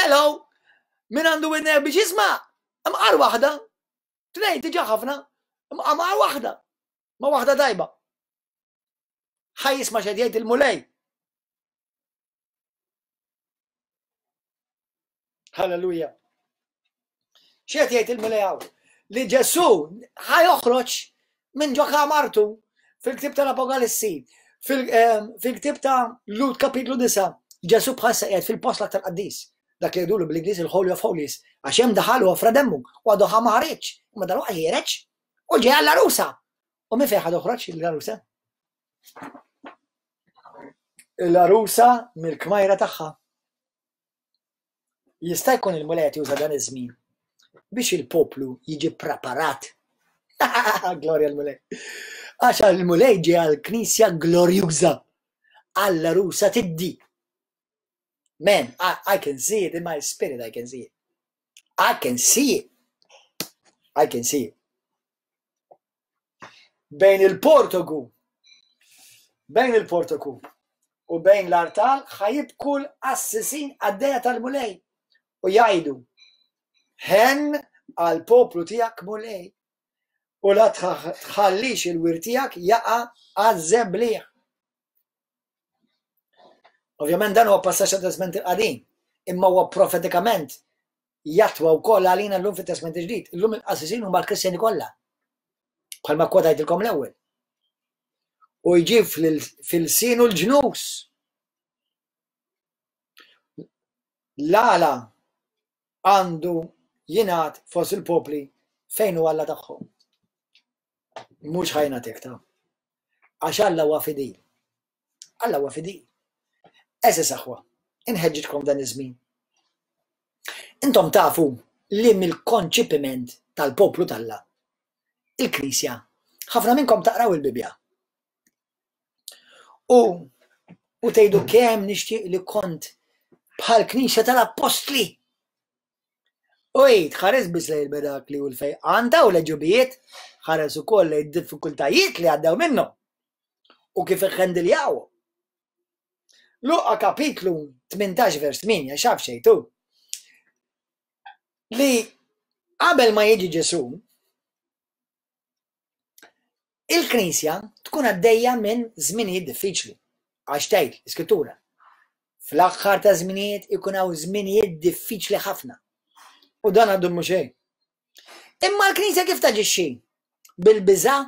[SPEAKER 1] Hello! Min għandu widnejh biex jisma' imqar waħda. Tnejn diġà ħafna, imqar waħda. Ma waħda tajba. Ħaj jisma' x'qed jgħid il-Mulej. Halleluja. X'qed jgħid il-Mulej hawn? Li Ġesù ħa joħroġ minn ġo kamartu fil-ktieb tal-Apokalissi, fil-ktieb ta' Lut kapitlu 9, Ġesù bħalissa qiegħed fil-post l-aktar qaddis. Dak li jgħidulu bl-Ingliż il-Holy of Holies, għax hemm daħal u offra demmu u għadu ħa ma ħareġ, imma dalwaqt ħiereġ u ġej għall-għarusa. U minn fejn ħa toħroġ l-għarusa? Il-għarusa mill-kmajra tagħha. Jista' jkun il-Mulej qed juża dan iż-żmien biex il-poplu jiġi preparat. Glorja l-Mulej. Għax il-Mulej ġie għall-Knisja glorjuża, għall-għarusa tiddi. Man, I, I can see it in my spirit, I can see it. I can see it. I can see it. Bejn il-portogu, bejn il-portoku u bejn l-artal ħa jibku l-qassisin qaddejja tal-Mulej u jgħidu, Ħenn għall-poplu tiegħek Mulej, u la tħallix il-wirt tiegħek jaqa' għaż-żebliħ. Ovvjament dan huwa passaġġ tat-Testment il-Qadim, imma huwa profetikament jattwa wkoll għalina llum fit-Testment il-Ġdid. Illum il-qassisin huma l-Kristjani kollha. Bħalma kwotajtilkom l-ewwel. U jġib fil-sinu l-ġnus. L-għala għandu jingħad fost il-popli fejn hu Alla tagħhom. Mhux ħajna ta' Għax Alla huwa fidil. Alla huwa fidil. Eżis aħwa, inħeġġitkom dan iż-żmien. Intom tafu li mill-konċipiment tal-poplu t'Alla, il-Knisja, ħafna minnkom taqraw il-Bibbja. U u tgħidu kemm nixtieq li kont bħal Knisja tal-Appostli. U għid, ħares biss lejn il-mirakli u l-fejqan ta' u l-għeġubijiet, ħares ukoll lejn id-diffikultajiet li għaddew minnhom u kif iħħendiljawhom. Luqa kapitlu 18 vers 8 xaf xejtu li qabel ma jiġi Ġesu Il-Knisja tkun għaddejja minn żminijiet diffiċli, għax tgħid l-Iskrittura, Fl-aħħar ta' żminijiet ikun hawn żminijiet diffiċli ħafna. U dan għadu mhux xejn. Imma l-Knisja kif taġixxi? Bil-biża'?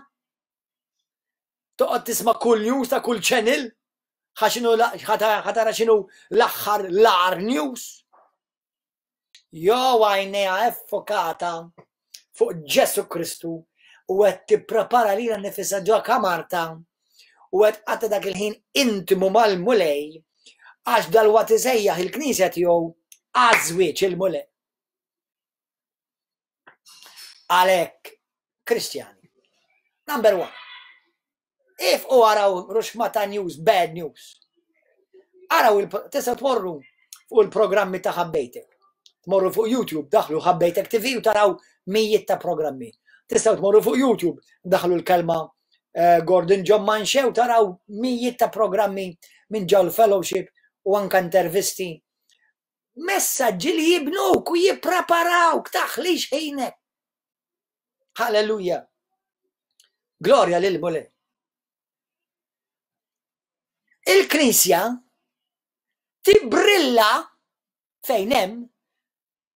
[SPEAKER 1] Toqgħod tisma' kull news ta' kull channel? Ħa tara x'inhu l-aħħar l-agħar news? Jew għajnejha effokata fuq Ġesù Kristu u qed tipprepara lilha nnifisha ġo kamartha u qed tqatta' dak il-ħin intimu mal-Mulej għax dalwaqt isejjaħ il-Knisja tiegħu għaż-żwieġ il-Mulej. Għalhekk, Kristjani, number one, If u araw ruxmata news, bad news. Araw, tistgħu tmorru fuq il-programmi ta' ħabbejtek. Tmorru fuq YouTube, daħlu ħabbejtek TV u taraw mijiet ta' programmi. Tistgħu tmorru fuq YouTube, daħlu l-kelma eh, Gordon John Manche u taraw mijiet ta' programmi minn ġol fellowship u anka intervisti. Messaġġi li jibnuk u jippreparawk taħlix ħinek. Halleluja. Glorja lil Mulej. Il-Knisja tibrilla fejn hemm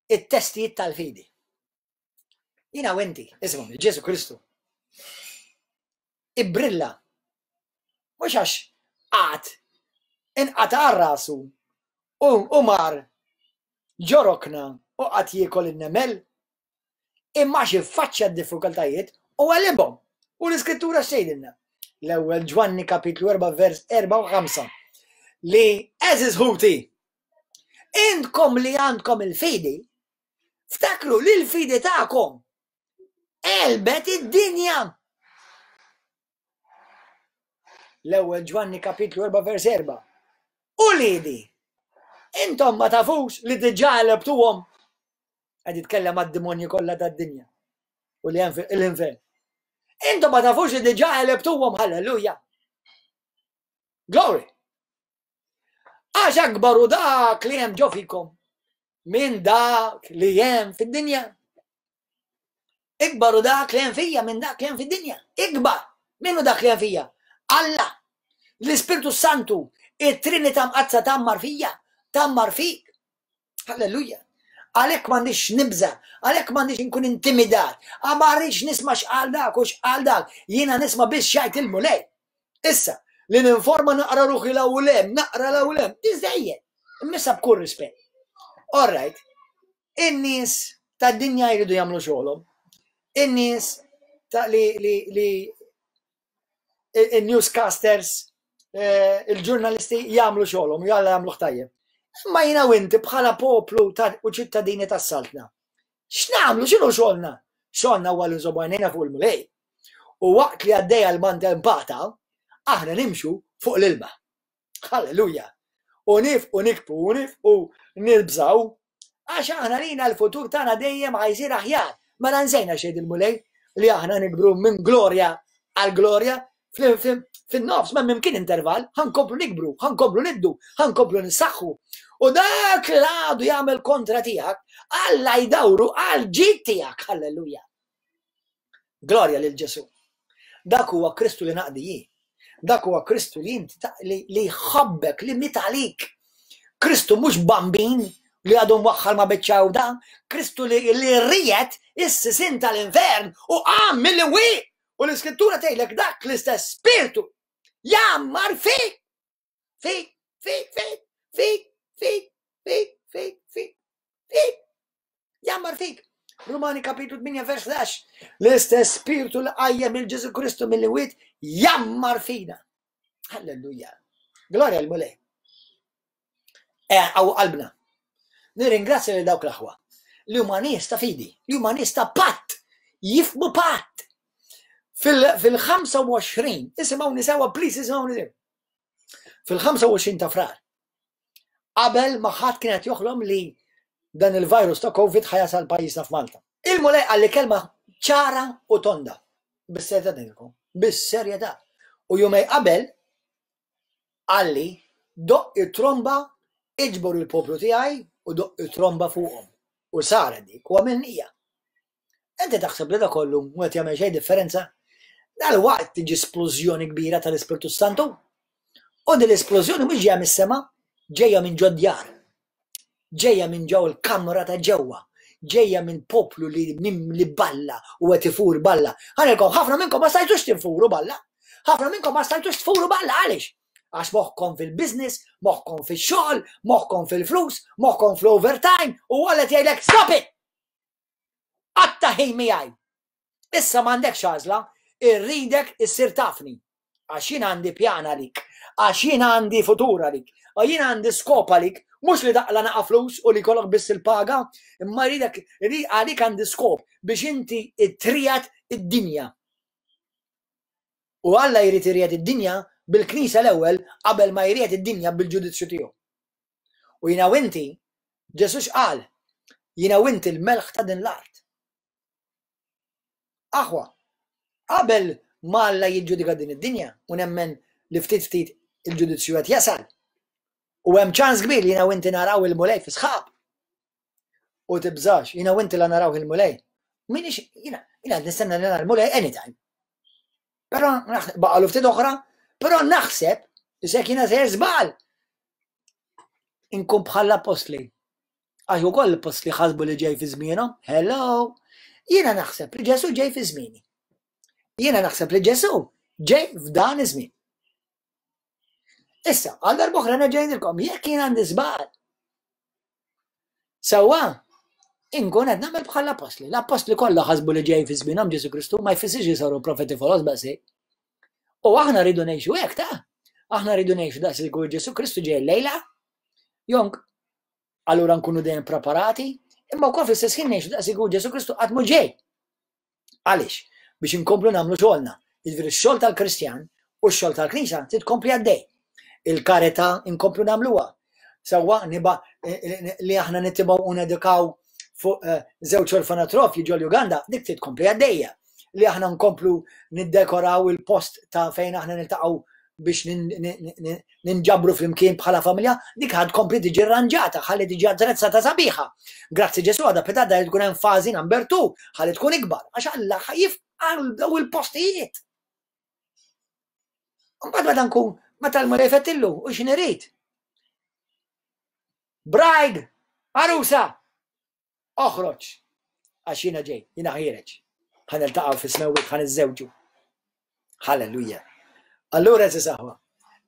[SPEAKER 1] it-testijiet tal-fidi. Jina u inti, ismu, Ġesu Kristu. Ibrilla. Mhux għax għad inqata' rasu u mar ġorokna u qatt jiekol in-nemel Imma għax iffaċċja d-diffikultajiet u għelibhom. U l-Iskrittura x'tgħidilna? L-ewwel Ġwanni kapitlu 4 vers 4 u 5 li għeżież ħuti, intkom li għandkom il-fidi, ftakru li l-fidi tagħkom għelbet id-dinja. L-ewwel Ġwanni kapitlu 4 vers 4. Uliedi, intom ma tafux li diġà għelebtuhom Qed jitkellem għad-demonji kollha tad-dinja u li hemm l-infern. Intom ma tafux li diġà għelebtuhom, halleluja. Glory! Għax akbar u dak li hemm ġo fikom minn dak li hemm fid-dinja. Ikbar u dak li hemm fija minn dak li hemm fid-dinja. Ikbar minnu dak li hemm fija. Alla, l-Ispirtu Santu, it-Trinità Mqaddsa tgħammar fija, tgħammar fik. Halleluja. Għalhekk m'għandix nibża, għalhekk m'għandix inkun intimidat, ma rridx nisma' x'qal dak u x'qal dak, jiena nisma' biss x'jgħid il-Mulej. Issa, li ninforma naqra ruħi 'l hawn u 'l hemm, naqra 'l hawn u 'l hemm, biżżejjed. Imma issa b'kull rispett. All right, in-nies tad-dinja jridu jagħmlu xogħolhom. In-nies ta' li li li il-newscasters, eh, il-ġurnalisti jagħmlu xogħolhom, jalla jagħmluh tajjeb. Imma jiena u inti bħala poplu u ċittadini tas-saltna. X'nagħmlu, x'inhu xogħolna? Xogħolna huwa li nżommu għajnejna fuq il-Mulej. U waqt li għaddejja l-maltempata, aħna nimxu fuq l-ilma. Halleluja! U nifqu nikbu u nifqu nibżaw għax aħna lina l-futur tagħna dejjem ħa jsir aħjar. Mela nsejna xejn il-Mulej li aħna nikbru minn glorja għal glorja fin-nofs ma mimkien intervall, ħankomplu nikbru, ħankomplu niddu, ħankomplu nissaħħu. U dak li għadu jagħmel kontra tiegħek, Alla jdawru għal ġid tiegħek, halleluja. Glorja lil Ġesù. Dak huwa Kristu li naqdi jien. Dak huwa Kristu li inti li jħobbek, li miet għalik. Kristu mhux bambin li għadu mwaħħal ma' biċċa għuda, Kristu li li ried is-sisin tal-infern u qam mill-imwiet. U l-Iskrittura tgħidlek dak l-istess spirtu jgħammar fik. Fik, fik, fik, fik, fik, fik, fik, fik, fik. Jammar fik. Rumani kapitlu 8 vers 11. L-istess spiritu li qajjem il Ġesu Kristu mill-imwiet jammar fina. Halleluja. Glorja l-Mulej. Eh, għaw qalbna. Nirringrazzja lil dawk l-aħwa li huma nies ta' fidi, li huma nies ta' patt, jifmu patt. Fil-25, isimgħuni sewa, please isimgħuni sewa. Fil-25 ta' frar, qabel ma ħadd kien qed joħlom li dan il-virus ta' Covid ħa jasal pajjiżna f'Malta. Il-Mulej qalli kelma ċara u tonda. Bis-serjetà ngħidilkom, bis-serjetà. U jumej qabel qalli doqq it-tromba iġbor il-poplu tiegħi u doqq it-tromba fuqhom. U saret dik u għamilnija. Inti taħseb li da kollu mhu qed jagħmel xejn differenza? Dalwaqt tiġi splużjoni kbira tal-Ispirtu Santu. U din l-isplużjoni mhux ġejja mis-sema, ġejja minn ġod djar. Ġejja minn ġew il-kamra ta' ġewwa. Ġejja minn poplu li mimli balla u qed ifur balla. Ħanilkom ħafna minnkom ma stajtux tinfuru balla. Ħafna minnkom ma stajtux tfuru balla għaliex? Għax moħħkom fil-business, moħħkom fix-xogħol, moħħkom fil-flus, moħħkom fl-overtime u għalet jgħidlek stop it! Qatta' ħin miegħi. Issa m'għandekx għażla, irridek issir tafni. Għax jien għandi pjan għalik, għax jien għandi futur għalik, għax jien għandi skop għalik, mhux li taqla' naqa' flus u li jkollok biss il-paga, imma rridek għalik għandi skop biex inti triegħed id-dinja. U Alla jrid iriegħed id-dinja bil-Knisja l-ewwel qabel ma jriegħed id-dinja bil-ġudizzju tiegħu. U jiena u inti, Ġesù x'qal? Jiena u inti l-melħ ta' din l-art. Aħwa, qabel ma Alla jiġġudika din id-dinja, u nemmen li ftit ftit il-ġudizzju qed jasal, u hemm ċans kbir li jiena u inti naraw il-Mulej fi sħab. U tibżax, jiena u inti la naraw il-Mulej. Minix, jiena, jiena nistenna li nara l-Mulej anytime. Però baqalu ftit oħra, però naħseb, isek jiena sejjer żball. Inkun bħal l-appostli. Għax ukoll l-appostli ħasbu li ġej fi żmienhom. Hello! Jiena naħseb li Ġesu ġej fi żmieni. Jiena naħseb li Ġesu ġej f'dan iż-żmien. Issa, għal darb'oħra nerġa' ngħidilkom, jekk jien għandi żball, Sewwa, inkun qed nagħmel bħal l-appostli. L-appostli kollha ħasbu li ġej fi żmienhom Ġesu Kristu ma jfissirx li saru profeti foloz b'daqshekk. U aħna rridu ngħixu hekk ta' aħna rridu ngħixu daqs li Ġesu Kristu ġej lejla. Jonk, allura nkunu dejjem preparati, imma wkoll fl-istess ħin ngħixu daqs li Ġesu Kristu qatt mhu ġej. Għaliex? Biex inkomplu nagħmlu xogħolna. Jiġifieri x-xogħol tal-Kristjan u x-xogħol tal-Knisja trid tkompli għaddej. Il-karità inkomplu nagħmluha. Sewwa niba li aħna nitimgħu u nedukaw fuq eh, żewġ orfanatrofji ġol Uganda, dik trid tkompli għaddejja. Li aħna nkomplu niddekoraw il-post ta' fejn aħna niltaqgħu biex ninġabru flimkien bħala familja, dik ħad tkompli tiġi rranġata, ħalli tiġi attrezzata sabiħa. Grazzi Ġesu għadha pitada li tkun hemm fażi number 2, ħalli tkun ikbar, għax Alla ħajifqar daw il-postijiet. Mbagħad meta nkun meta l-Mulej fettillu u x'nirid. Bride, arusa. Oħroġ! Għax jiena ġej, jiena ħiereġ. Ħa niltaqgħu fis-smewwiet, ħa niżżewġu. Halleluja. Allura eżis aħwa,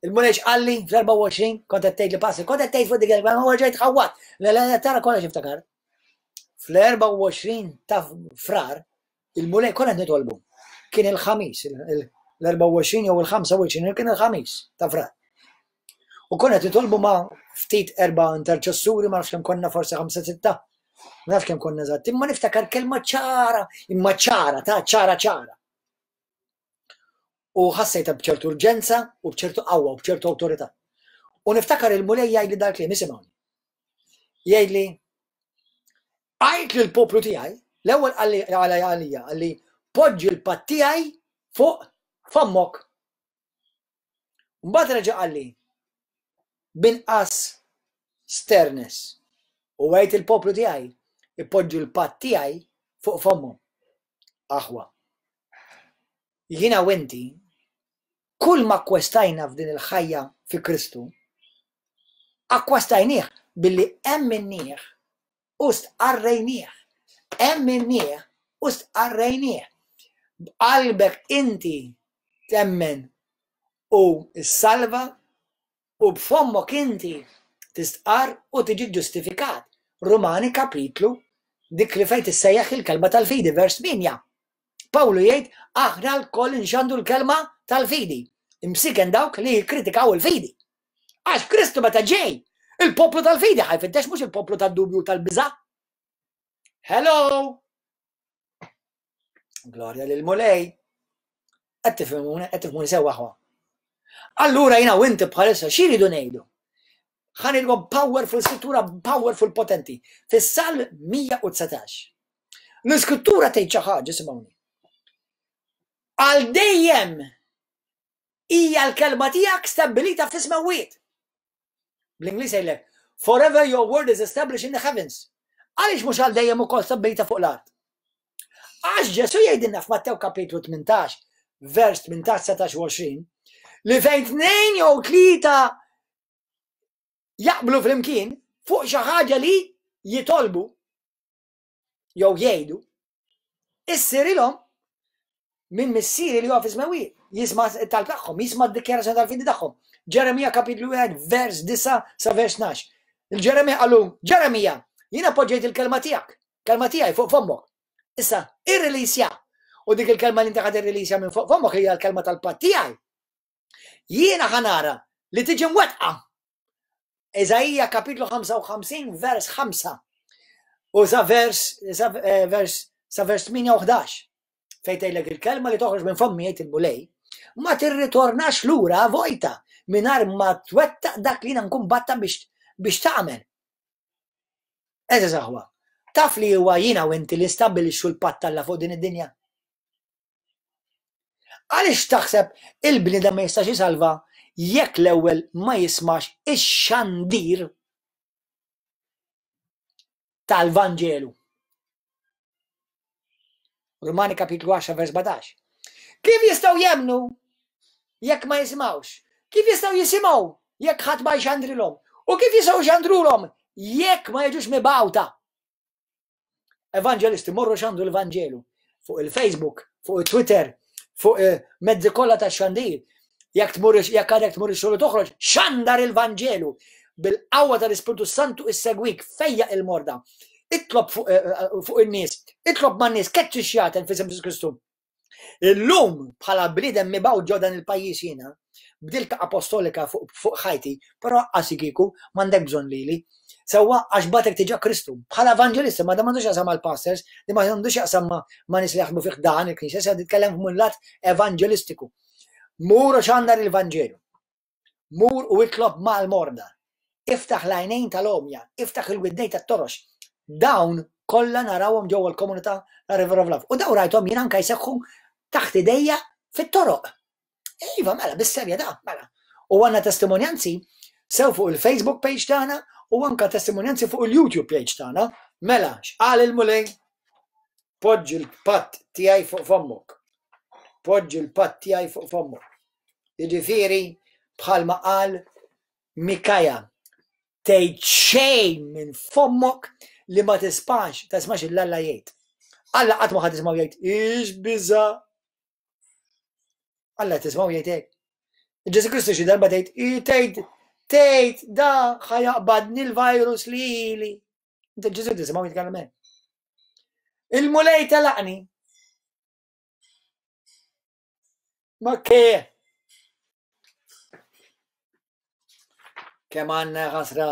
[SPEAKER 1] il-Mulej x'qalli fl-24 kont qed tgħid li passi, kont qed tgħid fuq dik il ma ġejt ħawwat. Le le tara kollox iftakar. Fl-24 ta' frar il-Mulej konna qed nitolbu. Kien il-ħamis, l-24 jew il-25 kien il-ħamis ta' frar. U konna qed nitolbu ma' ftit erba' interċessuri, ma nafx kemm konna forsi ħamsa sitta, ma nafx kemm konna eżatt, imma niftakar kelma ċara, imma ċara, ta' ċara ċara. U ħassejta b'ċertu urġenza u b'ċertu qawwa u b'ċertu awtorità. U niftakar il-Mulej jgħidli dal-kliem, isimgħuni. Jgħidli, għajt lill-poplu tiegħi, l-ewwel qalli għalija, qalli poġġi l-patt tiegħi fuq fommok. Mbagħad reġa' qalli, B'inqas sternes, u għid il-poplu tiegħi jpoġġu l-patt tiegħi fuq fommhom. Aħwa, jiena u inti, kull ma akkwestajna f'din il-ħajja fi Kristu, akkwastajnieh billi emminnieh u stqarrejnieh. Emminnieh u stqarrejnieh. B'qalbek inti temmen u ssalva u b'fommok inti tistqarr u tiġi ġġustifikat. Rumani kapitlu dik li fejn tissejjaħ il-kelma tal-fidi, vers 8. Pawlu jgħid aħna lkoll inxandu l-kelma tal-fidi. Imsiken dawk li jikkritikaw il-fidi. Għax Kristu meta ġej, il-poplu tal-fidi ħajfittex mhux il-poplu tad-dubju tal-biża'. Hello! Glorja lil Mulej. Qed tifhimuni, qed tifhmuni sew aħwa. Allura jiena u inti bħalissa xi jridu ngħidu? Ħa ngħidilkom powerful skrittura powerful potenti. Fis-Salm 119. L-iskrittura tgħid xi ħaġa, isimgħuni. Għal dejjem hija l-kelma tiegħek stabbilita fis-smewwiet. Bl-Ingliż jgħidlek, forever your word is established in the heavens. Għaliex mhux għal dejjem ukoll stabbilita fuq l-art? Għax Ġesu jgħidilna f'Mattew kapitlu 18, vers 18, 19 u 20, li fejn tnejn jew tlieta jaqblu flimkien fuq xi ħaġa li jitolbu jew jgħidu, issirilhom minn missieri li huwa fis-smewwiet, jisma' t-talb tagħhom, jisma' d-dikjarazzjoni tal-fidi tagħhom. Ġeremija kapitlu 1 vers 9 sa vers 12. Il-Ġeremija qalu, Ġeremija, jiena poġġejt il-kelma tiegħek, kelma tiegħi fuq fommok. Issa, irrilisja. U dik il-kelma li inti ħad irrilisja minn fuq fommok hija l-kelma tal-patt tiegħi. Jiena ħanara li tiġi mwettqa Iżaija kapitlu 55 vers 5 u sa vers sa eh, vers sa vers 8 u 11 fejn tgħidlek il-kelma li toħroġ minn fommi jgħid il-Mulej ma tirritornax lura vojta mingħajr ma twettaq dak li jiena nkun batta biex biex tagħmel. Eżeż aħwa, taf li huwa jiena u inti li stabbilixxu l-patt Alla fuq din id-dinja. Għaliex taħseb il-bniedem ma jistax isalva jekk l-ewwel ma jismax ix-xandir tal-Vanġelu? Rumani kapitlu 10 vers 17. Kif jistgħu jemmnu jekk ma jisimgħux? Kif jistgħu jisimgħu jekk ħadd ma jxandrilhom? U kif jistgħu jxandrulhom jekk ma jiġux mibgħuta? Evanġelisti morru xandu l-Vanġelu fuq il-Facebook, fuq il-Twitter, fuq eh, mezzi kollha ta' xandir. Jekk tmur jekk għadek tmur ix-xogħol toħroġ, xandar il-Vanġelu bil-qawwa tal-Ispirtu Santu issegwik fejja il-morda. Itlob fuq eh, eh, fuq in-nies, itlob man-nies, keċċi xjaten fi Ġesu Kristu. Illum bħala bniedem mibgħut ġo dan il-pajjiż jiena, b'dilka apostolika fuq fuq ħajti, però aqqas kieku m'għandek bżonn lili. Sewwa għax bagħtek diġà Kristu. Bħala evanġelista ma dan m'għandux x'jaqsam mal-pastors, din ma għandux x'jaqsam ma' ma' nies li jaħdmu fih dan il-knisja, se nitkellem minn lat evanġelistiku. Mur u xandar il-Vanġelu. Mur u itlob mal-morda. Iftaħ l-għajnejn tal-għomja, iftaħ il-widnejn tat-torox. Dawn kollha narawhom ġewwa l-komunità ta' River of Love. U dawn rajthom jien anke jseħħu taħt idejja fit-toroq. Iva, mela, bis-serjetà, mela. U għandna testimonjanzi sew fuq il-Facebook page tagħna u anke testimonjanzi fuq il-YouTube page tagħna. Mela, x'qal il-Mulej? Poġġi l-patt tiegħi fuq fommok. Poġġi l-patt tiegħi fuq fommok. Jiġifieri, bħalma qal Mikaja, tgħid xejn minn fommok li ma tispax, tismax il Alla jgħid. Alla qatt ma ħadd tismgħu jgħid, ix biża. Alla tismgħu jgħid hekk. Ġesu Kristu xi darba tgħid, tgħid, tgħid da ħajaqbadni l-virus lili. Inti Ġesu tisimgħu jitkellem hekk. Il-Mulej telaqni. Ma ke. Kemm għandna ħasra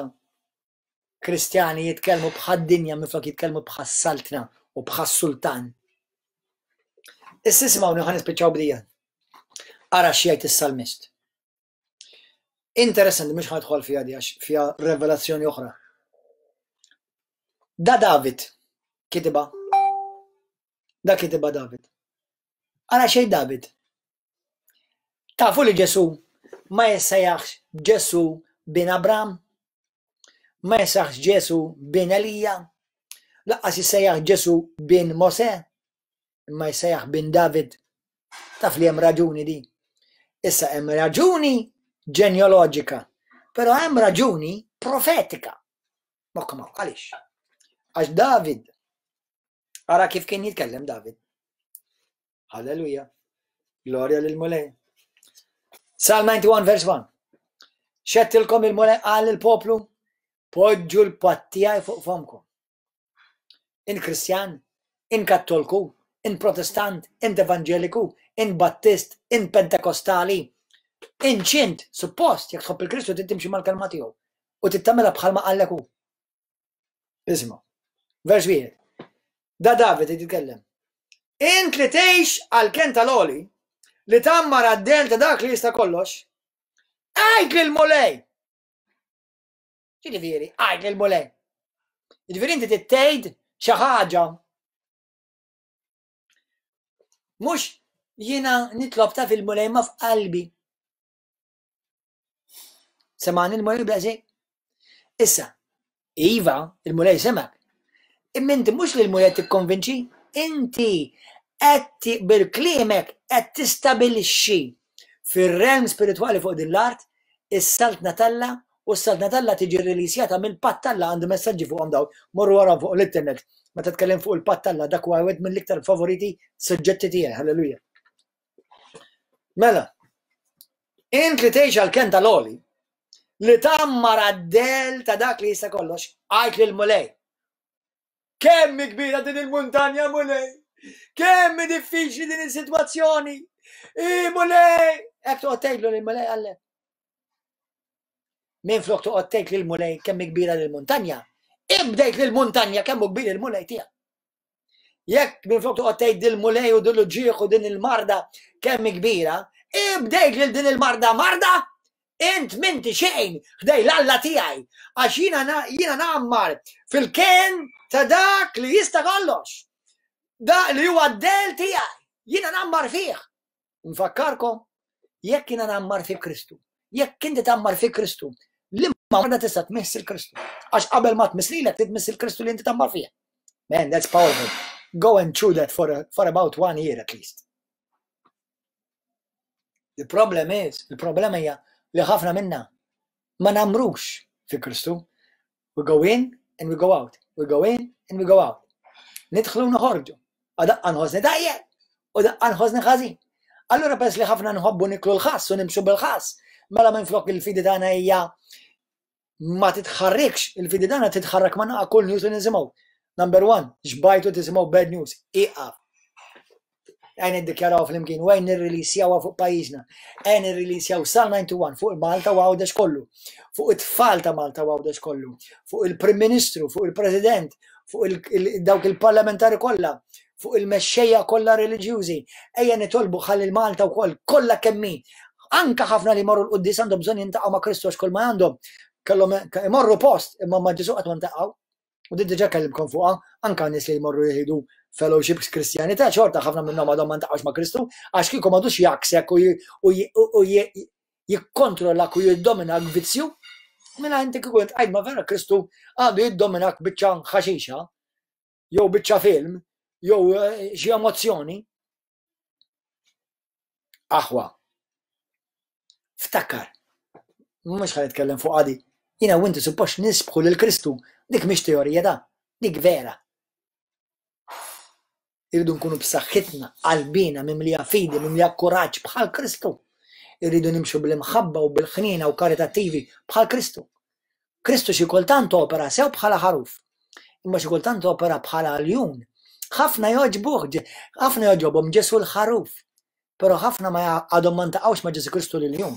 [SPEAKER 1] Kristjani jitkellmu bħad-dinja minflok jitkellmu bħas-saltna u bħas-sultan. Issa isimgħuni ħa nispiċċaw bdija. Ara x'jgħid is-salmist. Interessanti mhux ħa nidħol fiha di għax fiha revelazzjoni oħra. Da David kitibha. Da kitibha David. Ara xejn David. Tafu li Ġesù ma jissejjaħx Ġesù bin Abram? Ma jissejjaħx Ġesù bin Elija? Laqqas jissejjaħ Ġesù bin Mosè? Imma jissejjaħ bin David. Taf li hemm raġuni di. Issa hemm raġuni ġenealoġika, però hemm raġuni profetika. Moħħkom għaliex? Għax David, ara kif kien jitkellem David. Halleluja. Glorja lil Mulej. Psalm 91 verse 1. Xettilkom il-Mulej qal il-poplu, poġġu l-patt tiegħi fuq fomkom. In Kristjan, in Kattolku, in Protestant, int Evanġeliku, in Battist, in Pentekostali, in ċint, suppost, jekk tħobb il-Kristu trid timxi mal-kelma tiegħu u tittamela bħalma qallek hu. Isma'. Vers wieħed. Da David qed jitkellem. Int li tgħix għal ken tal-għoli, li tgħammar għad-del ta' dak li jista' kollox, għid lil Mulej. Ġifieri, għid lil Mulej. Ġifieri inti tgħid xi ħaġa. Mhux jiena nitlob ta' fil-Mulej ma f'qalbi. Semani l-Mulej bla Issa, iva, il-Mulej semak. Imma inti mhux li l-Mulej tikkonvinċi, inti qed bil-kliemek qed tistabilixxi fir-realm spiritwali fuq din l-art is-saltna t'Alla u s-saltna t'Alla tiġi rrilisjata mill-patt t'Alla għandi messaġġi fuqhom dawn, morru wara fuq l-internet. Meta tkellem fuq il-patt t'Alla dak huwa wieħed mill-iktar favoriti suġġetti tiegħi, halleluja. Mela, int li tgħix għal ken tal-oli, li tammar għad-del ta' dak li jista' kollox, għajt lil Mulej. Kemm kbira din il-muntanja Mulej! Kemm diffiċli din is-sitwazzjoni! I Mulej! Hekk toqgħod tgħidlu lil Mulej għallek. Minn flok toqgħod tgħid lil Mulej kemm kbira lil muntanja, ibdejt lil muntanja kemm hu kbir il-Mulej tiegħek. Jekk minflok toqgħod tgħid dil-mulej u din l-ġieħ u din il-marda kemm kbira, ibdejt lil din il-marda marda, int minti xejn ħdej l-Alla tiegħi għax jiena jiena ngħammar fil-ken ta' dak li jista' kollox. Dak li huwa d-del tiegħi, jiena ngħammar fih. Nfakkarkom, jekk jiena ngħammar fi Kristu, jekk inti tgħammar fi Kristu, li ma marda tista' tmiss il-Kristu. Għax qabel ma tmiss lilek, tmiss il-Kristu li inti tgħammar fih. Man, that's powerful. Go and chew that for, a, for about one year at least. The problem is, il-problema hija li ħafna minna ma namrux fi Kristu. We go in and we go out. We go in and we go out. Nidħlu noħorġu. Daqqa nħossni tajjeb u daqqa nħossni ħażin. Allura peress li ħafna nħobbu niklu l-ħass u nimxu bil-ħass, mela minn flok il-fidi tagħna hija ma titħarrikx, il-fidi tagħna titħarrak ma naqa' kull news li nisimgħu. Number one, xbajtu tisimgħu bad news, iqaf. Għajn niddikjaraw flimkien u għajn nirrilisjawha fuq pajjiżna. Għajn nirrilisjaw Psalm 91 fuq Malta u Għawdex kollu, fuq it-tfal ta' Malta u Għawdex kollu, fuq il-Prim Ministru, fuq il-President, fuq dawk il-parlamentari kollha, fuq il-mexxejja kollha reliġjużi. Ejja nitolbu ħalli l-Malta wkoll kollha kemm hi. Anka ħafna li jmorru l-quddies għandhom bżonn jintaqgħu ma' Kristu għax kull ma għandhom kellhom imorru post imma ma' Ġesu qatt ma ntaqgħu. U din diġà kellimkom fuqha, anka nies li jmorru jieħdu fellowships Kristjani ta' xorta ħafna minnhom għadhom ma ntaqgħux ma' Kristu għax kieku m'għadux jaksek u jikkontrollak u jiddominak vizzju. Mela inti kieku int ma vera Kristu għadu jiddominak biċċa ħaxixa jew biċċa film jew eh, xi emozzjoni. Aħwa, ftakar, mhux ħa nitkellem fuq għadi, jiena u inti suppost nisbħu lil Kristu, dik mhix teorija da. Dik vera. Irridu nkunu b'saħħitna, qalbina, mimlija fidi, mimlija kuraġġ bħal Kristu. Irridu nimxu bl-imħabba u bil-ħniena u karitattivi bħal Kristu. Kristu xi kultant opera sew bħala ħaruf, imma xi kultant opera bħala ljun. Ħafna jogħġbuh, ħafna jogħġobhom Ġesu l-ħaruf, però ħafna ma għadhom ma ntaqgħux ma' Ġesu Kristu l-ljun.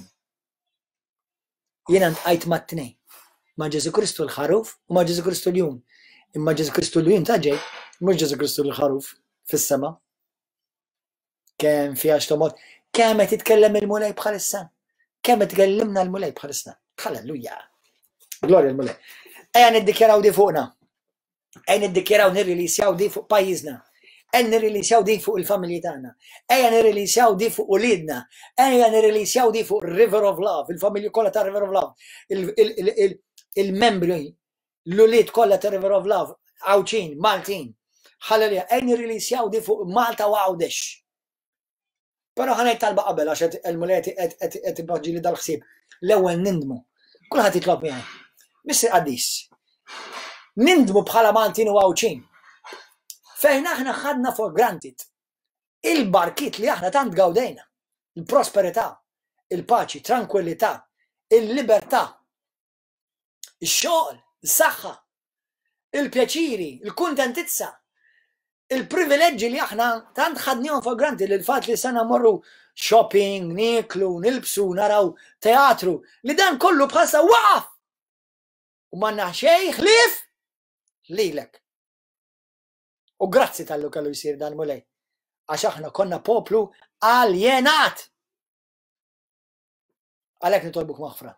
[SPEAKER 1] Jiena ntqajt mat-tnejn, ma' Ġesu Kristu l-ħaruf u ma' Ġesu Kristu l-jun. Imma Ġesu Kristu l-jun ta' ġej, mhux Ġesu Kristu l-ħaruf fis-sema. Kemm fiha x'tomgħod, kemm qed jitkellem il-Mulej bħalissa. Kemm qed tkellimna l-Mulej bħalissa. Halleluja. Glorja l-Mulej. Ejja niddikjaraw di fuqna. Ejja niddikjaraw nirrilisjaw di fuq pajjiżna. Ejja nirrilisjaw di fuq il-familji tagħna. Ejja nirrilisjaw di fuq uliedna. Ejja nirrilisjaw di fuq River of Love, il-familji kollha ta' River of Love, il-membri l-ulied kollha ta' River of Love, Għawdxin, Maltin. Halleluja, ejja nirrilisjaw di fuq Malta u Għawdex. Però ħa ngħid talba qabel għax qed il-Mulej qed qed ipoġġili dal-ħsieb. L-ewwel nindmu. Kulħadd jitlob miegħi. Missier qaddis. Nindmu bħala Maltin u Għawdxin. Fejn aħna ħadna for granted il-barkiet li aħna tant gawdejna, il-prosperità, il-paċi, tranquillità, il-libertà, ix-xogħol, is-saħħa, il-pjaċiri, il-kuntentizza, il-privileġġi li aħna tant ħadnihom for granted li l-fatt li sena morru shopping, nieklu, nilbsu, naraw teatru, li dan kollu bħalsa waqaf! U m'għandna xejn ħlief lilek. U grazzi tallu kellu jsir dan Mulej. Għax aħna konna poplu aljenat. Għalhekk nitolbuk maħfra.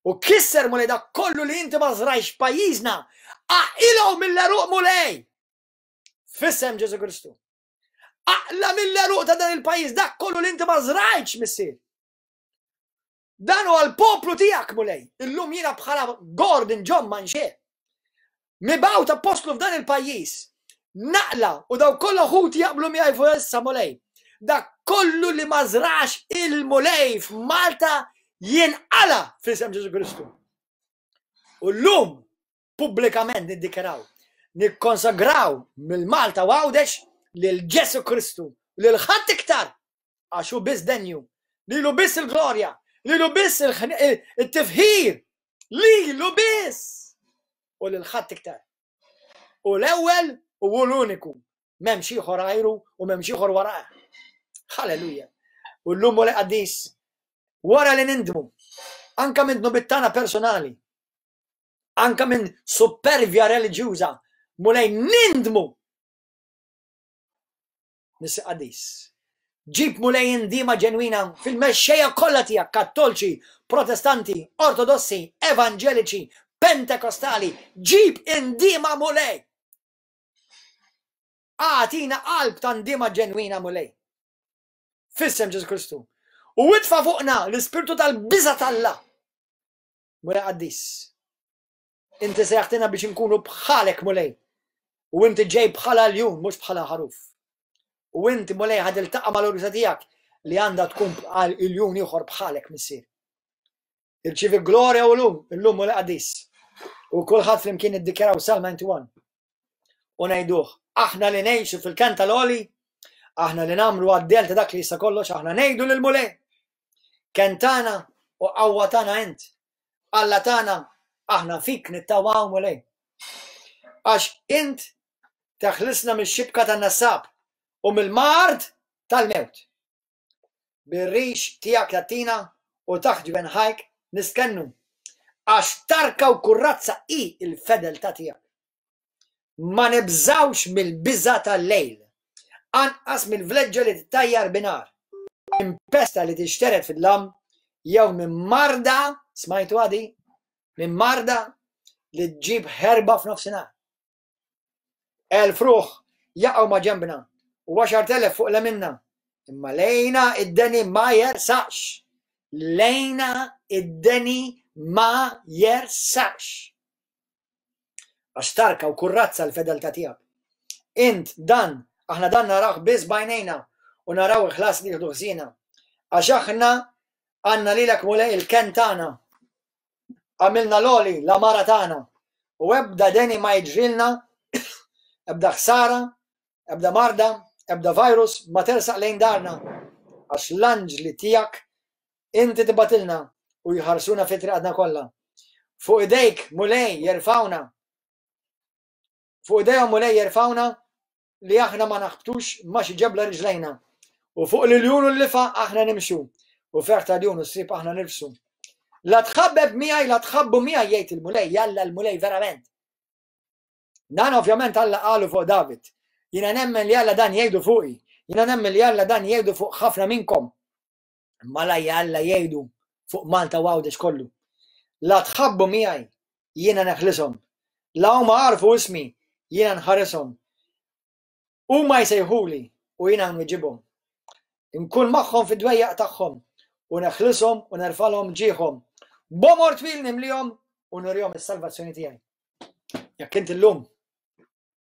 [SPEAKER 1] U kisser Mulej dak kollu li inti ma żrajx pajjiżna, aqilgħu mill-għeruq Mulej. F'isem Ġesu Kristu. Aqla mill-għeruq ta' dan il-pajjiż dak kollu li inti ma żrajtx missier. Dan huwa l-poplu tiegħek Mulej. Illum jiena bħala Gordon John Manché. Mibgħut appostlu f'dan il-pajjiż. Naqla u daw kollha ħuti jaqblu miegħi fuq issa Mulej. Dak kollu li ma żrax il-Mulej f'Malta jinqala f'isem Ġesu Kristu. U llum pubblikament niddikjaraw, nikkonsagraw mill-Malta u Għawdex lil Ġesu Kristu, lil ħadd iktar għax hu biss denju, lilu biss il-glorja, lilu biss il-tifħir, lilu biss u lil ħadd iktar. U l-ewwel u hu l-uniku, m'hemmx ieħor għajru u m'hemmx ieħor warah. Halleluja. U llum u qaddis wara li nindmu, anka minn dnubiet tagħna personali, anka minn supervja reliġjuża, Mulej nindmu Missier Qaddis. Ġib Mulej indiema ġenwina fil-mexxejja kollha tiegħek, Kattolċi, Protestanti, Ortodossi, Evanġeliċi, Pentekostali, ġib indiema Mulej. Agħtina qalb ta' ndiema ġenwina Mulej. F'isem Ġesu Kristu. U itfa' fuqna l-ispirtu tal-biża' t'Alla. Mulej Qaddis. Inti sejjaħtina biex inkunu bħalek, Mulej. U inti ġej bħala ljun, mhux bħala ħaruf. U inti, Mulej, ħa tiltaqa' mal-urusa tiegħek li għandha tkun bħal iljun ieħor bħalek, Missier. Irċivi glorja u lum, illum Mulej qaddis. U kulħadd flimkien iddikjaraw Salm 91. U ngħiduh, aħna li ngħixu fil-kenn tal-għoli, aħna li nagħmlu għad-del ta' dak li jista' kollox, aħna ngħidu lil Mulej. Kenn tagħna u qawwa tagħna int. Alla tagħna, aħna fik nittamaw Mulej. Għax int teħlisna mix-xibka tan-nassab u mill-mard tal-mewt. Bir-rix tiegħek tagħtina u taħt ġwenħajk nistkennu. Għax tarka u kurrazza hi l-fedeltà tiegħek. Ma nibżgħux mill-biża' tal-lejl, anqas mill-vleġġa li tittajjar binhar, minn pesta li tixtered fid-dlam, jew minn marda, smajtuha di? Minn marda li ġġib ħerba f'nofsinhar. 1000 ruħ jaqgħu ma' ġenbna u 10,000 fuq leminna, imma lejna id-deni ma jersaqx. Lejna id-deni ma jersaqx. Għax tarka u kurrazza l-fedeltà tiegħek. Int dan, aħna dan narawh biss b'għajnejna u naraw il-ħlas li jieħdu ħżiena. Għax aħna għandna lilek Mulej il-kenn tagħna. Għamilna l-għoli l-għamara tagħna. U ebda deni ma jiġrilna, ebda ħsara, ebda marda, ebda virus ma tersaq lejn darna, għax l-anġli tiegħek inti tibgħatilna u jħarsuna fi triqatna kollha. Fuq idejk, Mulej, jerfgħuna. Fuq idejhom Mulej jerfgħuna li aħna ma naħbtux ma xi ġebla riġlejna. U fuq l-iljun u l-lifa aħna nimxu, u ferħ ta' ljun u sriep aħna nirfsu. La tħabbeb miegħi, la tħabbu miegħi jgħid il-Mulej, jalla l-Mulej verament. Dan ovvjament Alla qalu fuq David. Jiena nemmen li Alla dan jgħidu fuqi. Jiena nemmen li Alla dan jgħidu fuq ħafna minnkom. Imma la Alla jgħidu fuq Malta u Għawdex kollu. La tħabbu miegħi, jiena neħlishom. La huma għarfu ismi, jiena nħarishom. Huma jsejħuli u jiena nwiġibhom. Inkun magħhom fid-dwejjaq tagħhom u neħlishom u nerfalhom ġieħhom. B'għomor twil nimlihom u nurihom is-salvazzjoni tiegħi. Jekk inti llum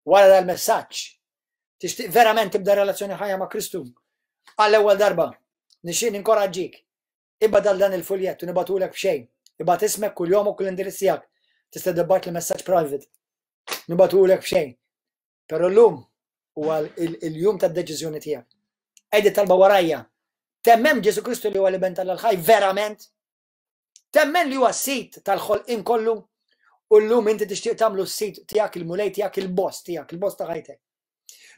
[SPEAKER 1] wara dal-messaġġ tixtieq verament tibda relazzjoni ħajja ma' Kristu għall-ewwel darba, nixtieq ninkoraġġik. Ibgħat għal dan il-fuljett u nibgħatulek b'xejn. Ibgħat ismek, kuljomok u l-indirizz tiegħek. Tista' tibgħat li messaġġ private. Nibgħatulek b'xejn. Però llum huwa il-jum tad-deċiżjoni tiegħek. Għid it-talba warajja. Temmen Ġesu Kristu li huwa l-Iben tal-ħaj verament? Temmen li huwa s-sid tal-ħolqien kollu u llum inti tixtieq tagħmlu s-sid tiegħek, il-mulej tiegħek, il-boss tiegħek, il-boss ta' ħajtek.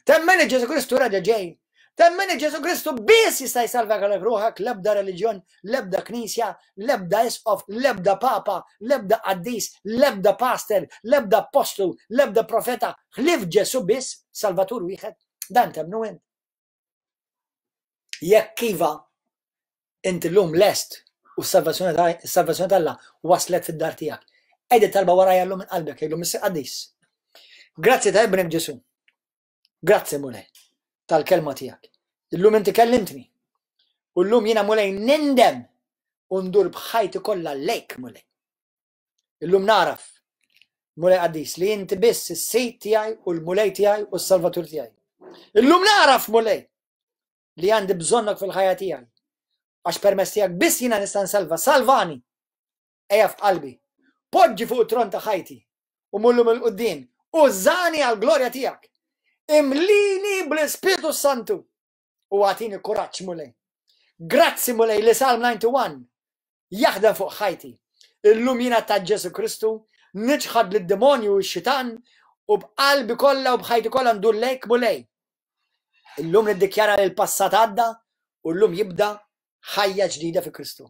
[SPEAKER 1] Temmen li Ġesu Kristu raġa ġej. Temmen li Ġesu Kristu biss jista' jsalva għalek ruħek l-ebda reliġjon, l-ebda knisja, l-ebda isqof, l-ebda papa, l-ebda qaddis, l-ebda pastor, l-ebda apostlu, l-ebda profeta, ħlief Ġesu biss, salvatur wieħed. Dan temmnu int. Jekk iva, inti llum lest u s-salvazzjoni t'Alla waslet fid-dar tiegħek. Għid it-talba warajja llum minn qalbek, għidlu Missier Qaddis. Grazzi ta' ibnek Ġesu. Grazzi Mulej tal-kelma tiegħek. Illum inti kellimtni. U llum jiena Mulej nindem u ndur b'ħajti kollha lejk Mulej. Illum naraf, Mulej Qaddis, li inti biss is-Sid tiegħi u l-Mulej tiegħi u s-Salvatur tiegħi. Illum naraf, Mulej, li għandi bżonnok fil-ħajja tiegħi. Għax permezz tiegħek biss jiena nista' nsalva. Salvani! Ejja f'qalbi. Poġġi fuq it-tron ta' ħajti u mullum il-quddiem. Użani għall-glorja tiegħek. Imlini bl-Ispirtu Santu u agħtini kuraġġ, Mulej. Grazzi, Mulej, li Salm 91 jaħdem fuq ħajti. Illum jiena ta' Ġesu Kristu, niċħad lid-demonju u x-xitan u b'qalbi kollha u b'ħajti kollha ndur lejk Mulej. Illum niddikjara li l-passat għadda u llum jibda ħajja ġdida fi Kristu.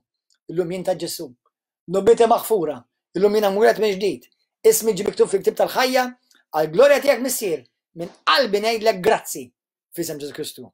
[SPEAKER 1] Illum jien ta' Ġesu. Dnubieti maħfura. Illum jiena mwieled minn ġdid. Ismi ġie miktub fil-ktieb tal-ħajja għall-glorja tiegħek Missier. Minn qalbi ngħidlek grazzi f'isem Ġesu Kristu.